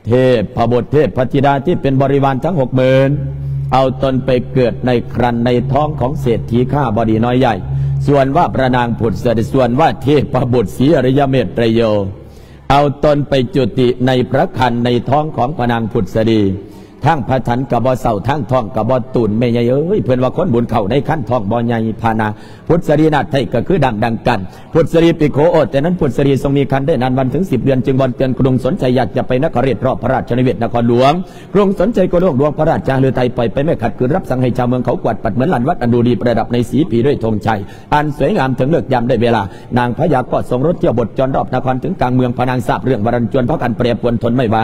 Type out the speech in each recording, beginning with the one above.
ເທບພະບຸດເທບພະທິດາທີ່ເປັນບໍລິວານທັງຫົກໝື່ນ ເອົາຕົນໄປເກີດໃນຄັນໃນທ້ອງຂອງເສດຖີຂ້າບໍດີນ້ອຍໃຫຍ່ ສ່ວນວ່າພະນາງພຸດສະດີ ສ່ວນວ່າເທບພະບຸດສີອະລິຍະເມດໄຕໂຍ ເອົາຕົນໄປຈຸຕິໃນພະຄັນໃນທ້ອງຂອງພະນາງພຸດສະດີ ທັງພະທັນກະບໍ່ເຊົາ ທັງທ້ອງກະບໍ່ຕູນ ແມ່ໃຫຍ່ເອີຍ ເພິ່ນວ່າຄົນບຸນເຂົ້າໃນຄັນທ້ອງບໍ່ໃຫຍ່ພະນາ ພຸດສະລີນາດໄທກະຄືດຳດັ່ງກັນ ພຸດສະລີປິໂຄ ໂອ ແຕ່ນັ້ນພຸດສະລີຊົງມີຄັນໄດ້ນານວັນເຖິງສິບເດືອນ ຈຶ່ງວອນເຕືອນກະດຸງສົນໃຈ ຢາກຈະໄປນະຄະເຣດ ຮອບພະລາຊະນິເວດນະຄອນຫຼວງ ກະດຸງສົນໄຊໂກໂລກຫຼວງພະລາຊາຫະລືໄທ ປ່ອຍໄປແມ່ຂັດຂືນ ຮັບສັ່ງໃຫ້ຊາວເມືອງເຂົາກວາດປັດເໝືອນລານວັດອັນດູດີ ປະດັບໃນສີພີດ້ວຍທອງໄຊ ອັນສວຍງາມເຖິງເລີກຍາມໄດ້ເວລາ ນາງພະຍາກໍຊົງລົດທຽວບົດຈອນຮອບນະຄອນເຖິງກາງເມືອງ ພະນາງຊາບເລື່ອງວ່າລັນຈວນເພາະຄັນແປປວນທົນໄມ່ໄຫວ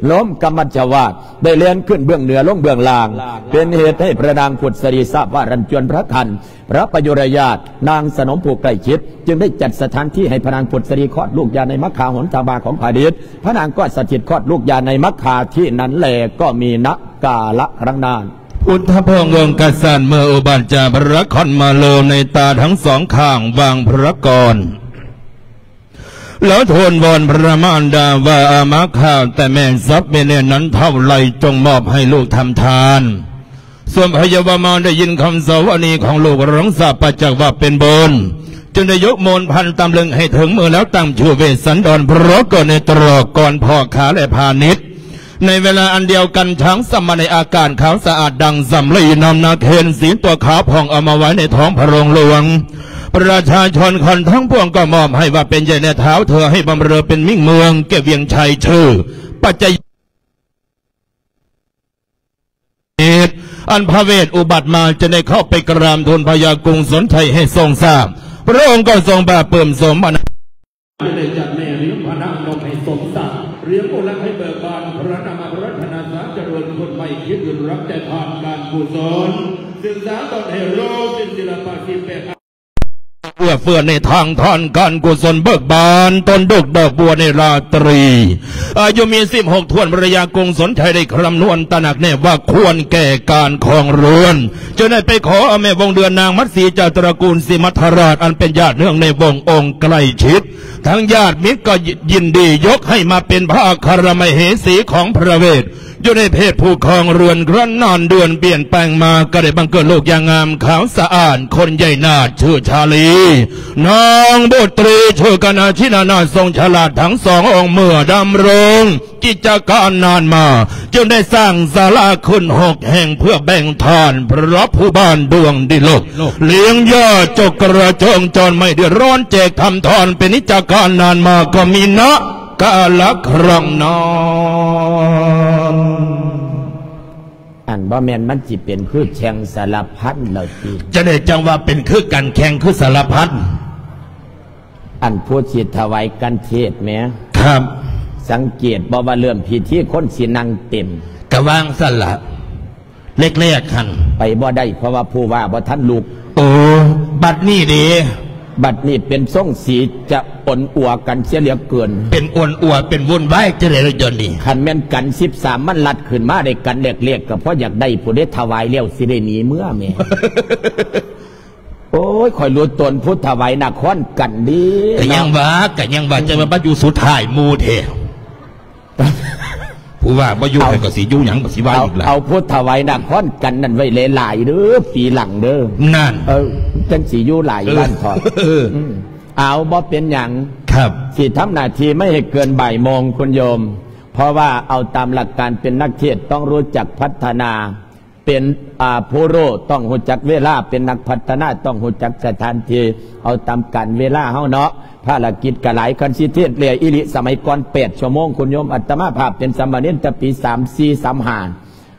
ລົມກຳມັດຈະວາດ ໄດ້ແລ່ນຂຶ້ນເບື້ອງເໜືອລົງເບື້ອງລ່າງ ເປັນເຫດໃຫ້ພະນາງພຸດສະລີຊາບວ່າລັນຈວນພະຄັນ ພະປະຍຸຣະຍາດ ນາງສະໜົມຜູ້ໃກ້ຊິດ ຈຶ່ງໄດ້ຈັດສະຖານທີ່ໃຫ້ພະນາງພຸດສະລີຄອດລູກຢາໃນມັກຄາຫົນທາງບາຂອງພະດິດ ພະນາງກໍສະຖິດຄອດລູກຢາໃນມັກຄາທີ່ນັ້ນແລ ກໍມີນະກາລະຄັ້ງນັ້ນ ພຸດທະພອງອົງກະສັດເມື່ອອຸບັດຈາກພະນະຄອນມະໂລ ໃນຕາທັງສອງຂ້າງວາງພະກອນ ແລ້ວທູນວອນພະມານດາວ່າ ອາມາຂ້າແຕ່ແມ່ສັບເມເນນັ້ນເທົ່າໃດ ຈົ່ງມອບໃຫ້ລູກທຳທານ ສ່ວນພະຍາວາມານໄດ້ຍິນຄຳສະຫວັດດີຂອງລູກ ລັງສາປະຈັກວ່າເປັນບຸນ ຈຶ່ງໄດ້ຍົກໂມນພັນຕຳເລິງໃຫ້ເຖິງມື ແລ້ວຕັ້ງຊື່ເວດສັນດອນ ພະເກີດໃນຕະຫຼອດກ່ອນພໍ່ຄ້າ ແລະ ພານິດ ໃນເວລາອັນດຽວກັນ ຊ້າງສຳມະໃນອາກາດຂາວສະອາດດັ່ງສຳລີ ນຳນາເຄນສີຕົວຂາວຜ່ອງ ເອົາມາໄວ້ໃນທ້ອງພະໂລງຫຼວງ ປະຊາຊົນຄົນທັງປວງກໍມອບໃຫ້ວ່າເປັນໃຫຍ່ແລະທ້າວເທີ ໃຫ້ບຳເລີເປັນມິ່ງເມືອງແກ່ວຽງໄຊ ຊື່ປັດໄຈ ເຫດ ອັນພະເວດອຸບັດມາ ຈະໄດ້ເຂົ້າໄປກະລາບທູນພະຍາກຸງສົນໄທໃຫ້ຊົງຊາບ ພະອົງກໍຊົງປາບປຶ້ມສົມບັນ ຈະໄດ້ຈັດແມ່ລ້ຽງພະນາງນົກໃຫ້ສົມສັດ ລ້ຽງໂອລັກໃຫ້ເບີກບານ ພະນາມາພະລັດທະນາສາຈະເລີນ ຄົນໃໝ່ຄິດຮັກແຕ່ທານການກຸສົນ ສຶກສາຕອນໃຫ້ໂລສິນສິລະປະສິບແປດ ເອື້ອເຟື້ອໃນທາງທານການກຸສົນເບີກບານ ຕົ້ນດົກດອກບົວໃນລາຕຣີ ອາຍຸມີສິບຫົກຖ້ວນ ພະຍາກຸງສົນໄທໄດ້ຄຳນວນຕະໜັກແນ່ວ່າຄວນແກ່ການຄອງເຮືອນ ຈຶ່ງໄດ້ໄປຂໍເອົາແມ່ວົງເດືອນນາງມັດສີຈາກຕະລະກູນສີມັດທະລາດ ອັນເປັນຍາດເນື່ອງໃນວົງອົງໃກ້ຊິດ ທັງຍາດມິດກໍຍິນດີຍົກໃຫ້ມາເປັນພະອັກຄະລະມະເຫສີຂອງພະເວດ ຢູ່ໃນເພດຜູ້ຄອງເຮືອນ ຄັ້ນນານເດືອນປ່ຽນແປງມາ ກໍໄດ້ບັງເກີດລູກຢ່າງງາມຂາວສະອາດ ຄົນໃຫຍ່ນາດຊື່ຊາລີ ນາງບຸດຕຣີຊື່ກະນະຊິນະນາດ ຊົງສະຫຼາດທັງສອງອົງ ເມື່ອດຳລົງກິດຈະການນານມາ ຈຶ່ງໄດ້ສ້າງສາລາຂຶ້ນຫົກແຫ່ງ ເພື່ອແບ່ງທານພະຜູ້ບ້ານດວງດີໂລກ ລ້ຽງຍາດຈົກກະລະຈົງຈອນໄມ້ເດືອດຮ້ອນ ແຈກທຳທອນເປັນກິດຈະການນານມາ ກໍມີນະ ກາລະຄັ້ງນັ້ນ ອັນບໍ່ແມ່ນມັນຊິເປັນຄືແຂ່ງສາລະພັນແລ້ວຕິ? ຈະໄດ້ຈັ່ງວ່າເປັນຄືກັນແຂ່ງຄືສາລະພັນ ອັນຜູ້ຊິຖະຫວາຍກັນເທດແໝ ຄັບ ສັງເກດບໍ່ວ່າເລີ່ມພິທີຄົນຊິນັ່ງເຕັມ ກະວ່າງຊັ້ນລະ ແລກໆຫັ້ນ ໄປບໍ່ໄດ້ ເພາະວ່າຜູ້ວ່າບໍ່ທັນລຸກ. ໂອ້ ບັດນີ້ເດ? ບັດນີ້ເປັນຊົງສີຈະອົນອົວກັນເສຍເຫຼືອເກີນ. ເປັນອົນອົວ ເປັນວຸ່ນວາຍຈັ່ງໃດລະດຽວນີ້? ຄັນແມ່ນກັນສິບສາມມັນລັດຂຶ້ນມາໄດ້ກັນແລກໆ ກໍພໍຢາກໄດ້ພຸ້ນເດ ຖະຫວາຍແລ້ວຊິໄດ້ໜີເມືອແໝ. ໂອ້ຍ ຂ້ອຍຮູ້ຕົນຜູ້ຖະຫວາຍນະຄອນກັນເດ. ກໍຍັງວ່າ ກໍຍັງວ່າ ອືມ ຈັ່ງວ່າມາຢູ່ສຸດທ້າຍໝູ່ແທ້. ຜູ້ວ່າບໍ່ຢູ່ ເອົາ ໃຜກໍຊິຢູ່ຫຍັງ ກໍຊິວ່າ ເອົາ ອີກລະ ເອົາຜູ້ຖະຫວາຍນະຄອນກັນນັ້ນໄວ້ຫຼາຍໆເດີ ປີຫຼັງເດີ ນັ້ນ ເອີ ຈັ່ງຊິຢູ່ຫຼາຍ ເອີ ວັນເທາະ ເອີ ອືມ ເອົາ ບໍ່ເປັນຫຍັງ ຄັບ ຊິທຳໜ້າທີ່ໄມ່ໃຫ້ເກີນບ່າຍໂມງ ຄຸນໂຍມ ເພາະວ່າເອົາຕາມຫຼັກການເປັນນັກເທດຕ້ອງຮູ້ຈັກພັດທະນາ ເປັນ ອ່າ ຜູ້ຮູ້ຕ້ອງຮູ້ຈັກເວລາ ເປັນນັກພັດທະນາຕ້ອງຮູ້ຈັກສະຖານທີ່ ເອົາຕາມການເວລາເຮົາເນາະ ພາລະກິດກະຫຼາຍ ຄັນຊິເທດແລ້ວອີ່ຫຼີ ສະໄໝກ່ອນແປດຊົ່ວໂມງ ຄຸນໂຍມ ອາດຕະມາພາບເປັນສາມະເນນແຕ່ປີສາມສີ່ ສາມຫ້າ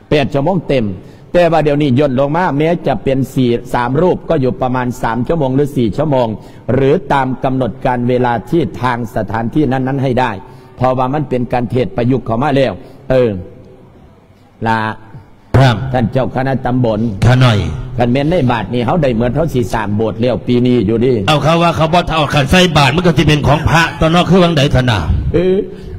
ແປດຊົ່ວໂມງເຕັມ ແຕ່ວ່າດຽວນີ້ຢ່ນລົງມາ ແມ້ຈະເປັນສີ່ ສາມຮູບກໍຢູ່ປະມານສາມຊົ່ວໂມງ ຫຼື ສີ່ຊົ່ວໂມງ ຫຼື ຕາມກຳນົດການເວລາທີ່ທາງສະຖານທີ່ນັ້ນໆໃຫ້ໄດ້ ເພາະວ່າມັນເປັນການເທດປະຍຸກເຂົ້າມາແລ້ວ ເອີ ລະ ຄັບ ທ່ານເຈົ້າຄະນະຕຳບົນ ຂ້ານ້ອຍ ຄັນແມ່ນໃນບາດນີ້ເຮົາໄດ້ໝົດ ເຮົາຊິສ້າງໂບດແລ້ວປີນີ້ຢູ່ເດ. ເອົາ ເຂົາວ່າເຂົາບໍ່ເອົາ ຄັນໃສ່ບາດມັນກໍຊິເປັນຂອງພະຕົວະເນາະ ຄືຫວ່າງໃດຊັ້ນນະ? ເອີ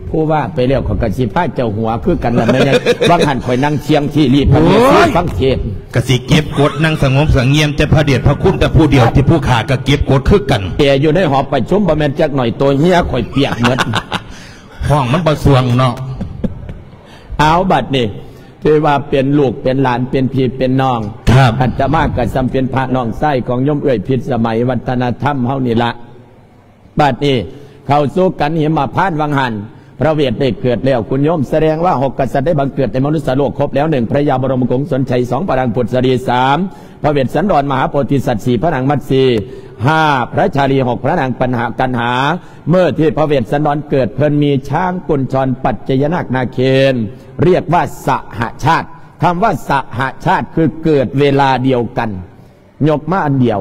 ຜູ້ວ່າໄປແລ້ວ ຂ້ອຍກໍຊິພາເຈົ້າຫົວຄືກັນລະແມ່ນຫຍັງ? ຫວ່າງຫັ້ນຂ້ອຍນັ່ງສຽງທີ່ລີບ ໂອ້ຍ ຟັງເທດ ກໍຊິເກັບກົດ ນັ່ງສະຫງົບສະຫງຽມແຕ່ພະເດດພະຄຸນແຕ່ຜູ້ດຽວ ທີ່ຜູ້ຂ້າກໍເກັບກົດຄືກັນ. ແອຢູ່ໃນຫໍປະຊຸມບໍ່ແມ່ນຈັກໜ້ອຍ ໂຕເຫື່ອຂ້ອຍປຽກໝົດ. ຫ້ອງມັນບໍ່ສ່ວງເນາະ ເອົາ ບັດນີ້ຖືວ່າເປັນລູກເປັນຫຼານ ເປັນພີ່ເປັນນ້ອງ ครับ ອາດຕະມາ ກໍສ່ຳເປັນພະນ້ອງຊາຍຂອງໂຍມເອື້ອຍພິດສະໄໝວັດທະນະທຳເຮົານີ້ລະ. ບັດນີ້ເຂົ້າສູ່ກັນຫິມມະພານວັງຫັນ ພະເວດໄດ້ເກີດແລ້ວ ຄຸນໂຍມ ສະແດງວ່າຫົກກະສັດໄດ້ບັງເກີດໃນມະນຸດສະໂລກຄົບແລ້ວ ໜຶ່ງ ພະຍາບໍລົມກຸງສົນໄຊ ສອງ ພະນາງພຸດສະດີ ສາມ ພະເວດສັນດອນມະຫາໂພທິສັດ ສີ່ ພະນາງມັດສີ ຫ້າ ພະຊາລີ ຫົກ ພະນາງກັນຫາ ເມື່ອທີ່ພະເວດສັນດອນເກີດ ເພິ່ນມີຊ້າງກຸນຊອນປັດໄຈຍະນາກນາເຄນ ຮຽກວ່າສະຫະຊາດ. ຄຳວ່າສະຫະຊາດຄືເກີດເວລາດຽວກັນ ຍົກມາອັນດຽວ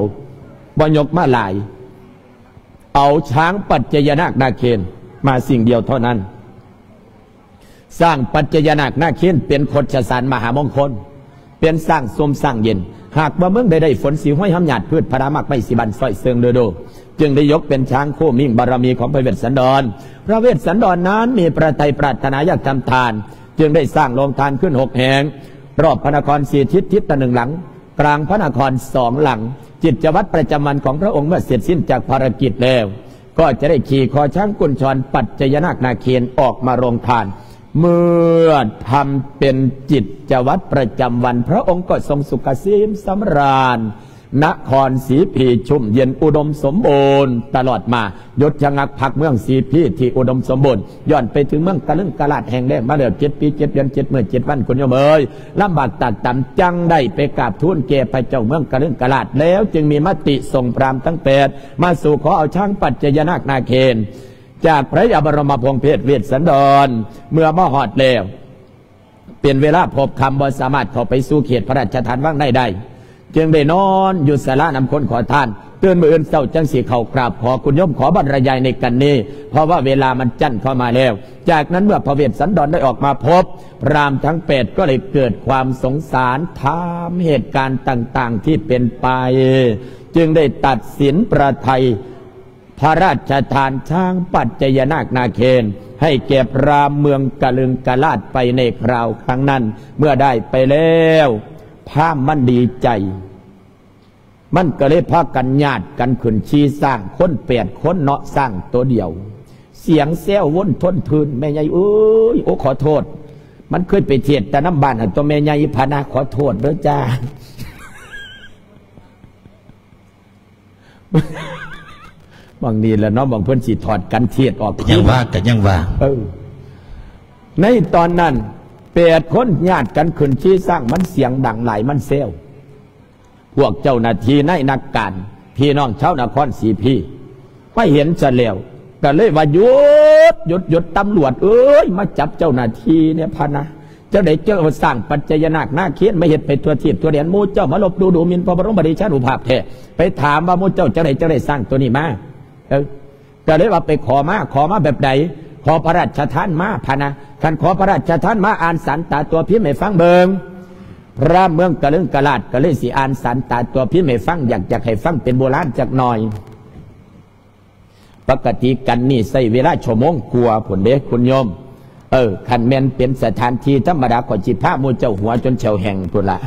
ບໍ່ຍົກມາຫຼາຍ ເອົາຊ້າງປັດໄຈຍະນາກນາເຄນມາສິ່ງດຽວເທົ່ານັ້ນ. ຊ້າງປັດໄຈຍະນາກນາເຄນເປັນຄົດຊະສານມະຫາມົງຄົນ ເປັນຊ້າງຊຸ່ມຊ້າງເຢັນ ຫາກວ່າເມືອງໃດໄດ້ຝົນ ສີຫ້ວຍຫ້ຳຫຍາດພືດ ພະລາໝາກໄມ້ສີບານ ຊ້ອຍເຊິ່ງເດີໂດ ຈຶ່ງໄດ້ຍົກເປັນຊ້າງຄູ່ມິ່ງບາລະມີຂອງພະເວດສັນດອນ. ພະເວດສັນດອນນັ້ນມີພະໄທປາດຖະໜາຢາກທຳທານ ຈຶ່ງໄດ້ສ້າງໂຮງທານຂຶ້ນຫົກແຫ່ງ ຮອບພະນະຄອນສີ່ທິດ ທິດລະໜຶ່ງຫຼັງ ກາງພະນະຄອນສອງຫຼັງ. ກິດຈະວັດປະຈຳວັນຂອງພະອົງເມື່ອເສັດສິ້ນຈາກພາລະກິດແລ້ວ ກໍຈະໄດ້ຂີ່ຄໍຊ້າງກຸນຊອນປັດໄຈຍະນາກນາເຄນອອກມາໂຮງທານ. ເມື່ອທຳເປັນກິດຈະວັດປະຈຳວັນ ພະອົງກໍຊົງສຸກກະເສມສຳລານ ນະຄອນສີພີຊຸ່ມເຢັນອຸດົມສົມບູນຕະຫຼອດມາ ຢຸດຊະງັກພັກເມືອງສີພີທີ່ອຸດົມສົມບູນ ຍ້ອນໄປເຖິງເມືອງກະລຶງກະລາດແຫ້ງແລ້ງມາແລ້ວເຈັດປີເຈັດເດືອນເຈັດມື້ເຈັດວັນ ຄຸນໂຍມເອີຍ ລຳບາກຕາກຕຳ ຈັ່ງໄດ້ໄປກາບທູນແກ່ພະເຈົ້າເມືອງກະລຶງກະລາດ ແລ້ວຈຶ່ງມີມະຕິສົ່ງພຣາມທັງແປດມາສູ່ຂໍເອົາຊ້າງປັດໄຈຍະນາກນາເຄນ ຈາກພະຍາບໍລົມະພົງເພດເວດສັນດອນ ເມື່ອມາຮອດແລ້ວ ເປັນເວລາພົບຄ່ຳ ບໍ່ສາມາດເຂົ້າໄປສູ່ເຂດພະລາຊະທານວັງໃນໄດ້ ຈຶ່ງໄດ້ນອນຢູ່ສາລານຳຄົນຂໍທານ. ຕື່ນມື້ອື່ນເຊົ້າຈັ່ງຊິເຂົ້າກາບຂໍຄຸນໂຍມ ຂໍບັນລະຍາຍໃນກັນນີ້ ເພາະວ່າເວລາມັນຈັ້ນເຂົ້າມາແລ້ວ. ຈາກນັ້ນເມື່ອພະເວດສັນດອນໄດ້ອອກມາພົບ ພຣາມທັງແປດກໍເລີຍເກີດຄວາມສົງສານ ຖາມເຫດການຕ່າງໆທີ່ເປັນໄປ ຈຶ່ງໄດ້ຕັດສິນພະໄທ ພະລາຊະທານຊ້າງປັດໄຈຍະນາກນາເຄນ ໃຫ້ແກ່ພຣາມເມືອງກະລຶງກະລາດໄປໃນຄາວຄັ້ງນັ້ນ. ເມື່ອໄດ້ໄປແລ້ວ ພຣາມມັນດີໃຈ ມັນກໍເລີຍພາກັນຍາດກັນຂຶ້ນຂີ່ຊ້າງ ຄົນແປດຄົນເນາະ ຊ້າງໂຕດຽວ ສຽງແຊວວົນທົນພື້ນ ແມ່ໃຫຍ່ເອີຍ ໂອ ຂໍໂທດ ມັນເຄີຍໄປເທດແຕ່ນຳບ້ານຫັ້ນຕົວະ ແມ່ໃຫຍ່ ພະນະ ຂໍໂທດເດີຈ້າ. ບາງນີ້ລະເນາະ ບາງເພິ່ນຊິຖອດກັນເທດອອກ ຍັງວ່າ ກໍຍັງວ່າ ເອີ ໃນຕອນນັ້ນ ແປດຄົນຍາດກັນຂຶ້ນຂີ່ຊ້າງ ມັນສຽງດັງຫຼາຍ ມັນແຊວ ພວກເຈົ້າໜ້າທີ່ນາຍນັກການ ພີ່ນ້ອງຊາວນະຄອນສີພີ ໄປເຫັນຊະແລ້ວ ກໍເລີຍວ່າ ຢຸດ ຢຸດ ຢຸດ ຕຳຫຼວດເອີຍ ມາຈັບເຈົ້າໜ້າທີ່ແດ່ ພະນະ. ຈັ່ງໃດເຈົ້າເອົາຊ້າງປັດໄຈຍະນາກນາເຄນມາເຮັດໄປທົ່ວທີບທົ່ວແດນ ໝູ່ເຈົ້າມາລົບດູດູໝິ່ນພະບໍລົມປະເດຊານຸພາບແທ້. ໄປຖາມວ່າໝູ່ເຈົ້າຈັ່ງໃດຈັ່ງໄດ້ຊ້າງໂຕນີ້ມາ? ເອີ ກໍເລີຍວ່າໄປຂໍມາ ຂໍມາແບບໃດ? ຂໍພະລາຊະທານມາ ພະນະ. ຄັນຂໍພະລາຊະທານມາ ອ່ານສານຕາຕົວພິມໃຫ້ຟັງເບິ່ງ. ພຣາມເມືອງກະລຶງກະລາດກໍເລີຍຊິອ່ານສານຕາຕົວພິມໃຫ້ຟັງ ຢາກ ຢາກໃຫ້ຟັງເປັນໂບລານຈັກໜ່ອຍ. ປົກກະຕິກັນນີ້ໃຊ້ເວລາຊົ່ວໂມງກວ່າພຸ້ນເດ້ຄຸນໂຍມ. ເອີ ຄັນແມ່ນເປັນສະຖານທີ່ທຳມະດາ ຂ້ອຍຊິພາໝູ່ເຈົ້າຫົວຈົນແຂ້ວແຫ້ງພຸ້ນລະ.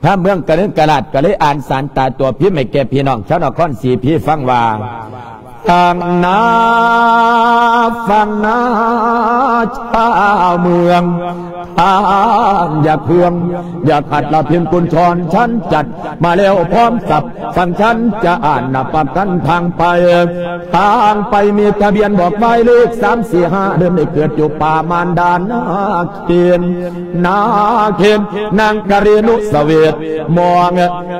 ພຣາມເມືອງກະລຶງກະລາດກໍເລີຍອ່ານສານຕາຕົວພິມໃຫ້ແກ່ພີ່ນ້ອງຊາວນະຄອນສີພີຟັງວ່າ ຟັງນາ ຟັງນາ ຊາວເມືອງ ທ່ານຢ່າເຄືອງ ຢ່າຂັດລະພິນກຸນຊອນ ສັນຈັດມາແລ້ວພ້ອມສັບ ຝັ່ງສັນຈະອ່ານນະປະກັນທາງໄປ ທາງໄປມີທະບຽນບອກໝາຍເລກ ສາມ ສີ່ ຫ້າ ເດີມໄດ້ເກີດຢູ່ປ່າມານດານາເຄນ ນາເຄນ ນາງກະເຣນຸສະເວດ ມອງ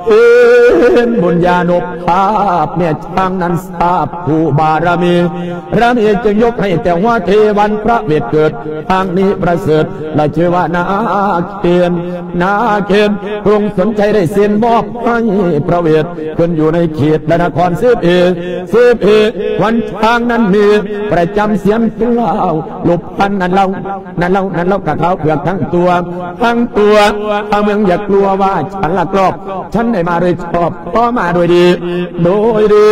ເຫັນບຸນຍານຸພາບແມ່ ທາງນັ້ນຊາບຜູ້ບາລະມີ ພະເອກຈຶ່ງຍົກໃຫ້ແຕ່ຫົວເທວັນພະເວດເກີດ ທາງນີ້ປະເສີດ ລະຊື່ວ່ານາເຄນ ນາເຄນ ກຸງສົນໄຊໄດ້ເຊັນມອບໃຫ້ພະເວດ ຂຶ້ນຢູ່ໃນເຂດລະນະຄອນສິບເອ ສິບເອ ວັນທາງນັ້ນມີປະຈຳສຽງເລົ່າ ລົບພັນນັ້ນເລົ່າ ນັ້ນເລົ່າ ນັ້ນເລົ່າກະຂາວເຜືອກທັງຕົວ ທັງຕົວ ທາງເມືອງຢ່າກົວວ່າ ສັນລັກລອບ ສັນໄດ້ມາໂດຍຊອບ ຂໍມາໂດຍດີ ໂດຍດີ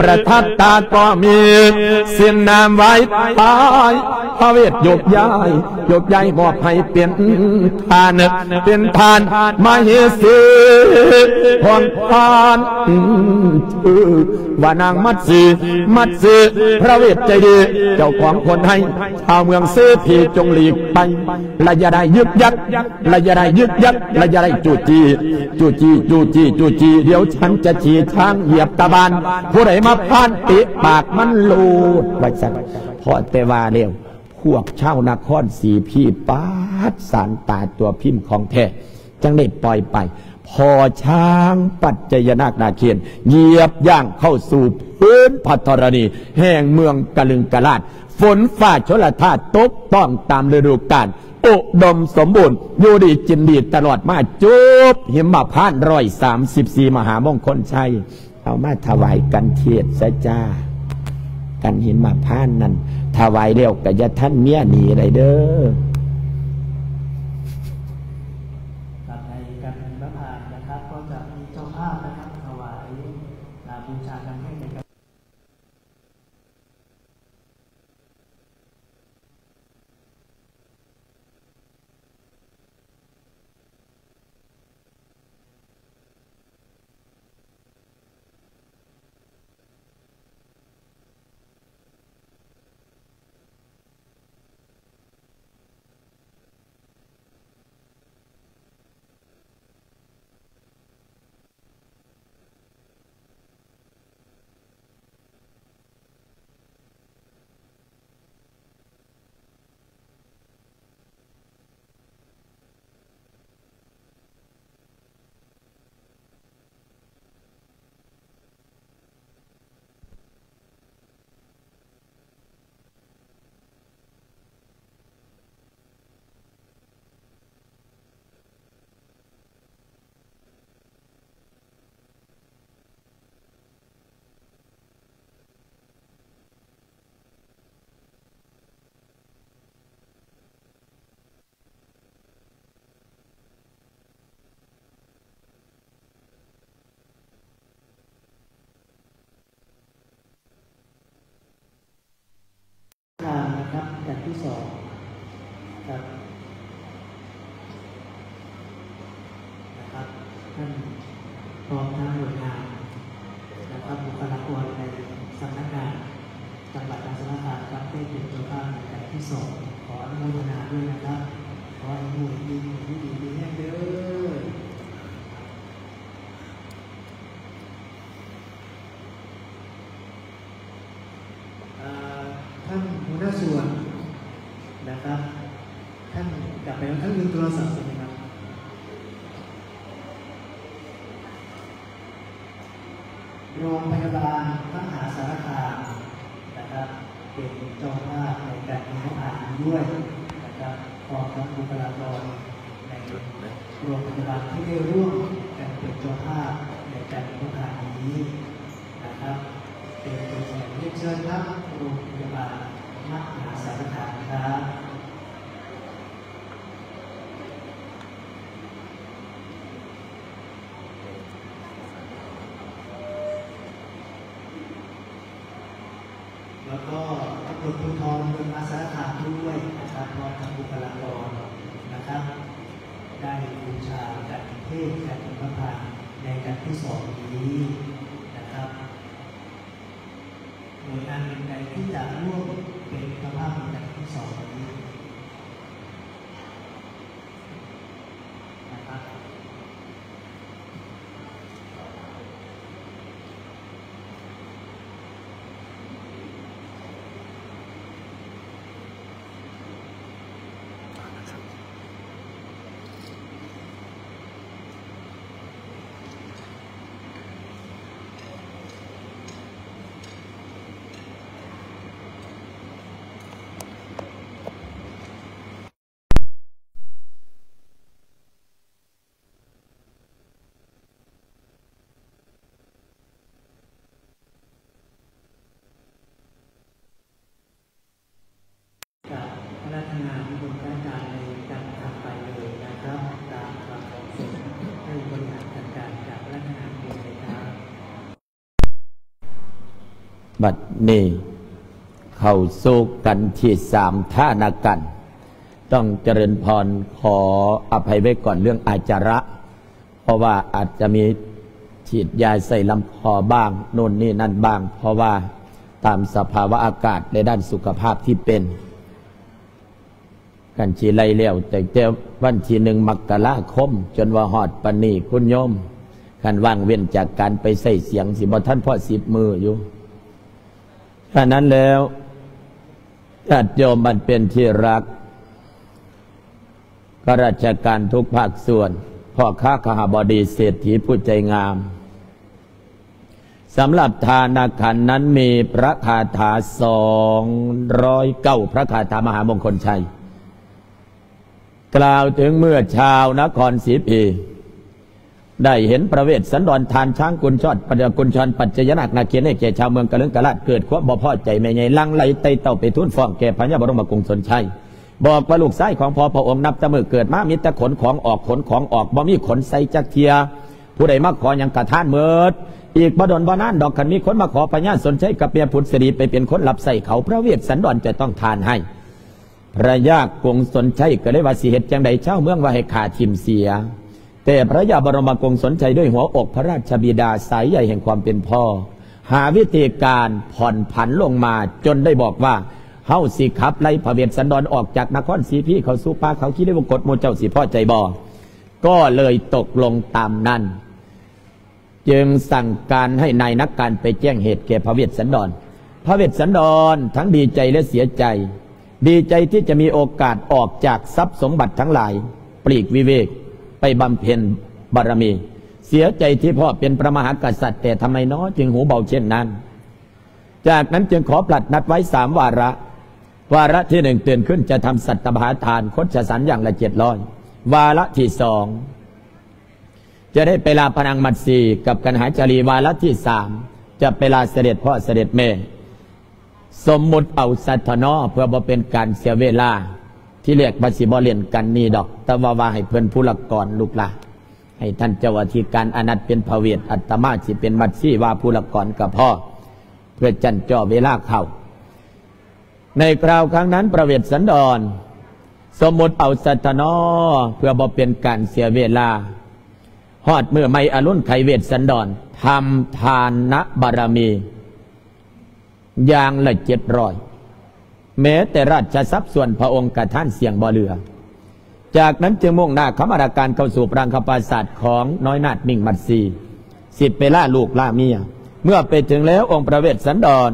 ປະທັບຕາກໍມີ ເສັ້ນນ້ຳໄວ້ພາຍ ພະເວດໂຍກຍ້າຍ ໂຍກຍ້າຍມອບໃຫ້ ເປັນທ່ານ ເປັນທ່ານມະເຫສີຂອງທ່ານ ວ່ານາງມັດສີ ມັດສີ ພະເວດໃຈດີ ເຈົ້າຂອງຄົນໃຫ້ ຊາວເມືອງເສພີຈົ່ງຫຼີກໄປ ລະຢ່າໄດ້ຍຶກຍັກ ລະຢ່າໄດ້ຍຶກຍັກ ລະຢ່າໄດ້ຈູ້ຈີ້ ຈູ້ຈີ້ ຈູ້ຈີ້ ຈູ້ຈີ້ ດຽວສັນຈະຂີ່ຊ້າງຢຽບຕາບານ ຜູ້ໃດມາຜ່ານເຕະປາກມັນໂລດ ວ່າຊັ້ນ. ພໍແຕ່ວ່າແລ້ວ ພວກຊາວນະຄອນເສພີ ປາດສານຕາຕົວພິມຂອງແທ້ ຈັ່ງໄດ້ປ່ອຍໄປ. ພໍ່ຊ້າງປັດໄຈຍະນາກນາເຄນ ຢຽບຍ່າງເຂົ້າສູ່ພື້ນພະທໍລະນີ ແຫ່ງເມືອງກະລຶງກະລາດ ຝົນຟ້າຊົນລະທາດຕົກຕ້ອງຕາມລະດູການ ອຸດົມສົມບູນ ຢູ່ດີກິນດີຕະຫຼອດມາ ຈົບຫິມມະພານຮ້ອຍສາມສິບສີ່ມະຫາມົງຄົນໄຊ. ເອົາມາຖະຫວາຍກັນເທດຊະຈ້າ ກັນຫິມມະພານນັ້ນ ຖະຫວາຍແລ້ວກະຢ່າທັນເມຍໜີໄດ້ເດີ້. ครับ ในการหิมพานต์นะครับ ก็จะมีเจ้าภาพนะครับ ถวาย อ่า บูชากันให้ในการ ทานนะครับ แผ่นที่สองครับ นะครับ ท่านพร้อมทั้งหน่วยงานนะครับ บุคลากรในสำนักงานจังหวัดมหาสารคามครับ ได้เป็นเจ้าภาพในแผ่นที่สอง ขออนุโมทนาด้วยนะครับ ขอให้หมู่ดี หมู่ดี มีแฮงเด้อ อ่า ท่านหัวหน้าส่วนนะครับ ท่านกลับไปแล้ว ท่านลืมโทรศัพท์ใช่ไหมครับ โรงพยาบาลมหาสารคามนะครับ เป็นเจ้าภาพในการมีงบประมาณนี้ด้วยนะครับ พร้อมทั้งบุคลากรในโรงพยาบาลที่ได้ร่วมกันเป็นเจ้าภาพในการมีงบประมาณนี้นะครับ เป็นตัวแทนเรียนเชิญครับ โรงพยาบาลมหาสารคามครับ แล้วก็ตำรวจภูธรเมืองมหาสารคามด้วยนะครับ พร้อมทั้งบุคลากรนะครับ ได้บูชากันเทศน์กันพระพานในกันที่สองนี้นะครับ หน่วยงานใดที่จะร่วมเป็นเจ้าภาพในกันที่สองนี้ นะครับกับพนักงานบนรายการในการทำไปเลยนะครับ ตามความเหมาะสมให้บริหารจัดการกับพนักงานบนเลยครับ ບັດນີ້ເຂົ້າສູ່ກັນທີສາມ ທ່ານາກັນ ຕ້ອງເຈະເລີນພອນ ຂໍອະໄພໄວ້ກ່ອນເລື່ອງອາຈາລະ ເພາະວ່າອາດຈະມີສີດຢາໃສ່ລຳຄໍບ້າງ ໂນ່ນນີ້ນັ້ນບ້າງ ເພາະວ່າຕາມສະພາວະອາກາດ ແລະ ດ້ານສຸຂະພາບທີ່ເປັນ. ຄັນຊິໄລ່ແລ້ວ ຕັ້ງແຕ່ວັນທີໜຶ່ງ ມະກະລາຄົມ ຈົນວ່າຮອດປານນີ້ ຄຸນໂຍມ ຄັນວ່າງເວັ້ນຈາກການໄປໃຊ້ສຽງ ຊິບໍ່ທັນພໍສິບມື້ຢູ່. ສະນັ້ນແລ້ວ ຍາດໂຍມອັນເປັນທີ່ຮັກ, ຂ້າລາຊະການທຸກພາກສ່ວນ, ພໍ່ຄ້າຄະຫະບໍດີ, ເສດຖີຜູ້ໃຈງາມ, ສຳລັບທານະຂັນນັ້ນມີພະຄາຖາສອງຮ້ອຍເກົ້າ ພະຄາຖາມະຫາມົງຄົນໄຊ ກ່າວເຖິງເມື່ອຊາວນະຄອນສີພີ ໄດ້ເຫັນພະເວດສັນດອນທ່ານຊ້າງກຸນຊອດ ປັດຈະ ກຸນຊອນປັດຈະຍະນາກນາເຄນ ໃຫ້ແກ່ຊາວເມືອງກະລຶງກະລາດ ເກີດຄວາມບໍ່ພໍໃຈ ແມ່ໃຫຍ່ຫຼັ່ງໄຫຼໄຕ່ເຕົ້າໄປທູນຟ້ອງແກ່ພະຍາບໍລົມມະກົງສົນໄຊ ບອກວ່າລູກຊາຍຂອງພໍ່ພະອົງນັບແຕ່ມື້ເກີດມາມີແຕ່ຂົນຂອງອອກ ຂົນຂອງອອກ ບໍ່ມີຂົນໃສ່ຈັກເທື່ອ ຜູ້ໃດມາຂໍຫຍັງກະທານໝົດ ອີກບໍ່ດົນບໍ່ນານດອກ ຄັນມີຄົນມາຂໍພະຍາສົນໄຊກັບແມ່ພຸດສະດີໄປເປັນຄົນຮັບໃຊ້ເຂົາ ພະເວດສັນດອນຈະຕ້ອງທານໃຫ້. ພະຍາກົງສົນໄຊກໍເລີຍວ່າ ຊິເຮັດຈັ່ງໃດ ຊາວເມືອງວ່າໃຫ້ຂ້າຖິ້ມເສຍ ແຕ່ພະຍາບໍລົມມະກົງສົນໄຊດ້ວຍຫົວອົກພະລາຊະບິດາ ສາຍໃຍແຫ່ງຄວາມເປັນພໍ່ ຫາວິທີການຜ່ອນຜັນລົງມາ ຈົນໄດ້ບອກວ່າ ເຮົາຊິຂັບໄລ່ພະເວດສັນດອນອອກຈາກນະຄອນສີພີ ເຂົ້າສູ່ປ່າເຂົາຄີ ໄດ້ວ່າກົດໝູ່ເຈົ້າຊິພໍໃຈບໍ່? ກໍເລີຍຕົກລົງຕາມນັ້ນ. ຈຶ່ງສັ່ງການໃຫ້ນາຍນັກການໄປແຈ້ງເຫດແກ່ພະເວດສັນດອນ. ພະເວດສັນດອນທັງດີໃຈ ແລະ ເສຍໃຈ, ດີໃຈທີ່ຈະມີໂອກາດອອກຈາກຊັບສົມບັດທັງຫຼາຍ, ປລີກວິເວກໄປບຳເພັນບາລະມີ, ເສຍໃຈທີ່ພໍ່ເປັນພະມະຫາກະສັດ, ແຕ່ທຳໄມນໍຈຶ່ງຫູເບົາເຊັ່ນນັ້ນ? ຈາກນັ້ນຈຶ່ງຂໍພະດາດນັດໄວ້ສາມວາລະ. ວາລະທີໜຶ່ງ ຕື່ນຂຶ້ນຈະທຳສັດຕະປະຫານ ຄົດຈະສັນຢ່າງລະເຈັດຮ້ອຍ. ວາລະທີສອງ ຈະໄດ້ໄປລາພະນາງມັດສີກັບກັນຫາຈາລີ. ວາລະທີສາມ ຈະໄປລາສະເດັດພໍ່ສະເດັດແມ່. ສົມມຸດເອົາສັດທະນໍ ເພື່ອບໍ່ເປັນການເສຍເວລາ. ທີແລກວ່າຊິບໍ່ຫຼິ້ນກັນນີ້ດອກ, ແຕ່ວ່າ ວ່າໃຫ້ເພິ່ນຜູ້ລະກອນລູກຫຼານ, ໃຫ້ທ່ານເຈົ້າອະທິການອານັດເປັນພະເວດ, ອາດຕະມາຊິເປັນມັດສີວ່າຜູ້ລະກອນກໍພໍ, ເພື່ອຈັນຈໍເວລາເຂົ້າ. ໃນຄາວຄັ້ງນັ້ນ ພະເວດສັນດອນ ສົມມຸດເອົາສັດທະນໍ ເພື່ອບໍ່ເປັນການເສຍເວລາ. ຮອດມື້ໃໝ່ອະລຸນໄຂເວດສັນດອນ ທຳທານນະບາລະມີຢ່າງລະເຈັດຮ້ອຍ. ແມ້ແຕ່ລາຊະຊັບສ່ວນພະອົງກະທານສ່ຽງບໍ່ເຫຼືອ. ຈາກນັ້ນຈຶ່ງມຸ່ງໜ້າຄຳມະລາການເຂົ້າສູ່ປະລາງຄະປາສາດຂອງນ້ອຍນາດມິງມັດສີ, ສິໄປລາລູກລາເມຍ. ເມື່ອໄປເຖິງແລ້ວ ອົງພະເວດສັນດອນ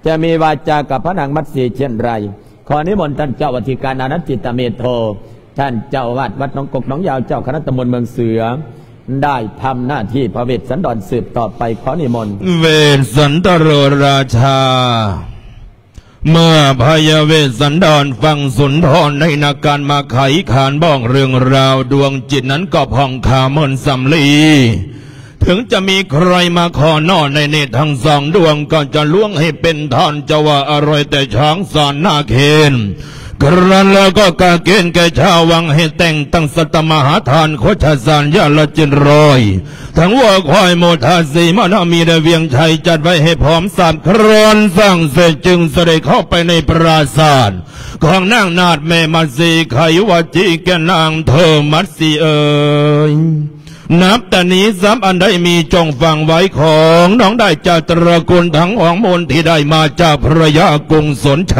ຈະມີວາຈາກັບພະນາງມັດສີເຊັ່ນໃດ? ຂໍນິມົນທ່ານເຈົ້າອະທິການອານັນທິຕະເມໂທ, ທ່ານເຈົ້າອາວາດວັດໜອງກົກໜອງຍາວ, ເຈົ້າຄະນະຕຳບົນເມືອງເສືອ, ໄດ້ທຳໜ້າທີ່ພະເວດສັນດອນສືບຕໍ່ໄປ. ຂໍນິມົນ. ເວດສັນຕະໂຣລາຊາ. ເມື່ອພະຍາເວດສັນດອນຟັງສຸນທອນໃນນາການມາໄຂຄານບອກເລື່ອງລາວ, ດວງຈິດນັ້ນກໍຜ່ອງຂາເໝືອນສຳລີ. ເຖິງຈະມີໃຄມາຂໍນອນໃນເນດທັງສອງດວງ, ກໍຈະລວງໃຫ້ເປັນທ່ານ. ຈະວ່າອະໄລແຕ່ຊ້າງສານນາເຄນ, ຄະນັ້ນແລ້ວກໍກະເກນແກ່ຊາວວັງໃຫ້ແຕ່ງຕັ້ງສັດຕະມະຫາທານ ໂຄດຊະສານຢ່າງລະເຈັດຮ້ອຍ. ທັງວັວຄວາຍໝູທາສີມານາມີ ແລະ ວຽງໄຊ ຈັດໄວ້ໃຫ້ພ້ອມສັບ. ຄະນັ້ນສ້າງເສັດຈຶ່ງສະເດັດເຂົ້າໄປໃນປາສາດຂອງນາງນາດແມ່ມັດສີ ໄຂວາຈີແກ່ນາງເທີມັດສີເອີຍ. ນັບແຕ່ນີ້ຊັບອັນໃດມີຈົ່ງຝັງໄວ້ ຂອງນ້ອງໄດ້ຈາກຕະລະກຸນທັງຂອງມູນທີ່ໄດ້ມາຈາກພະຍາກົງສົນໄຊ.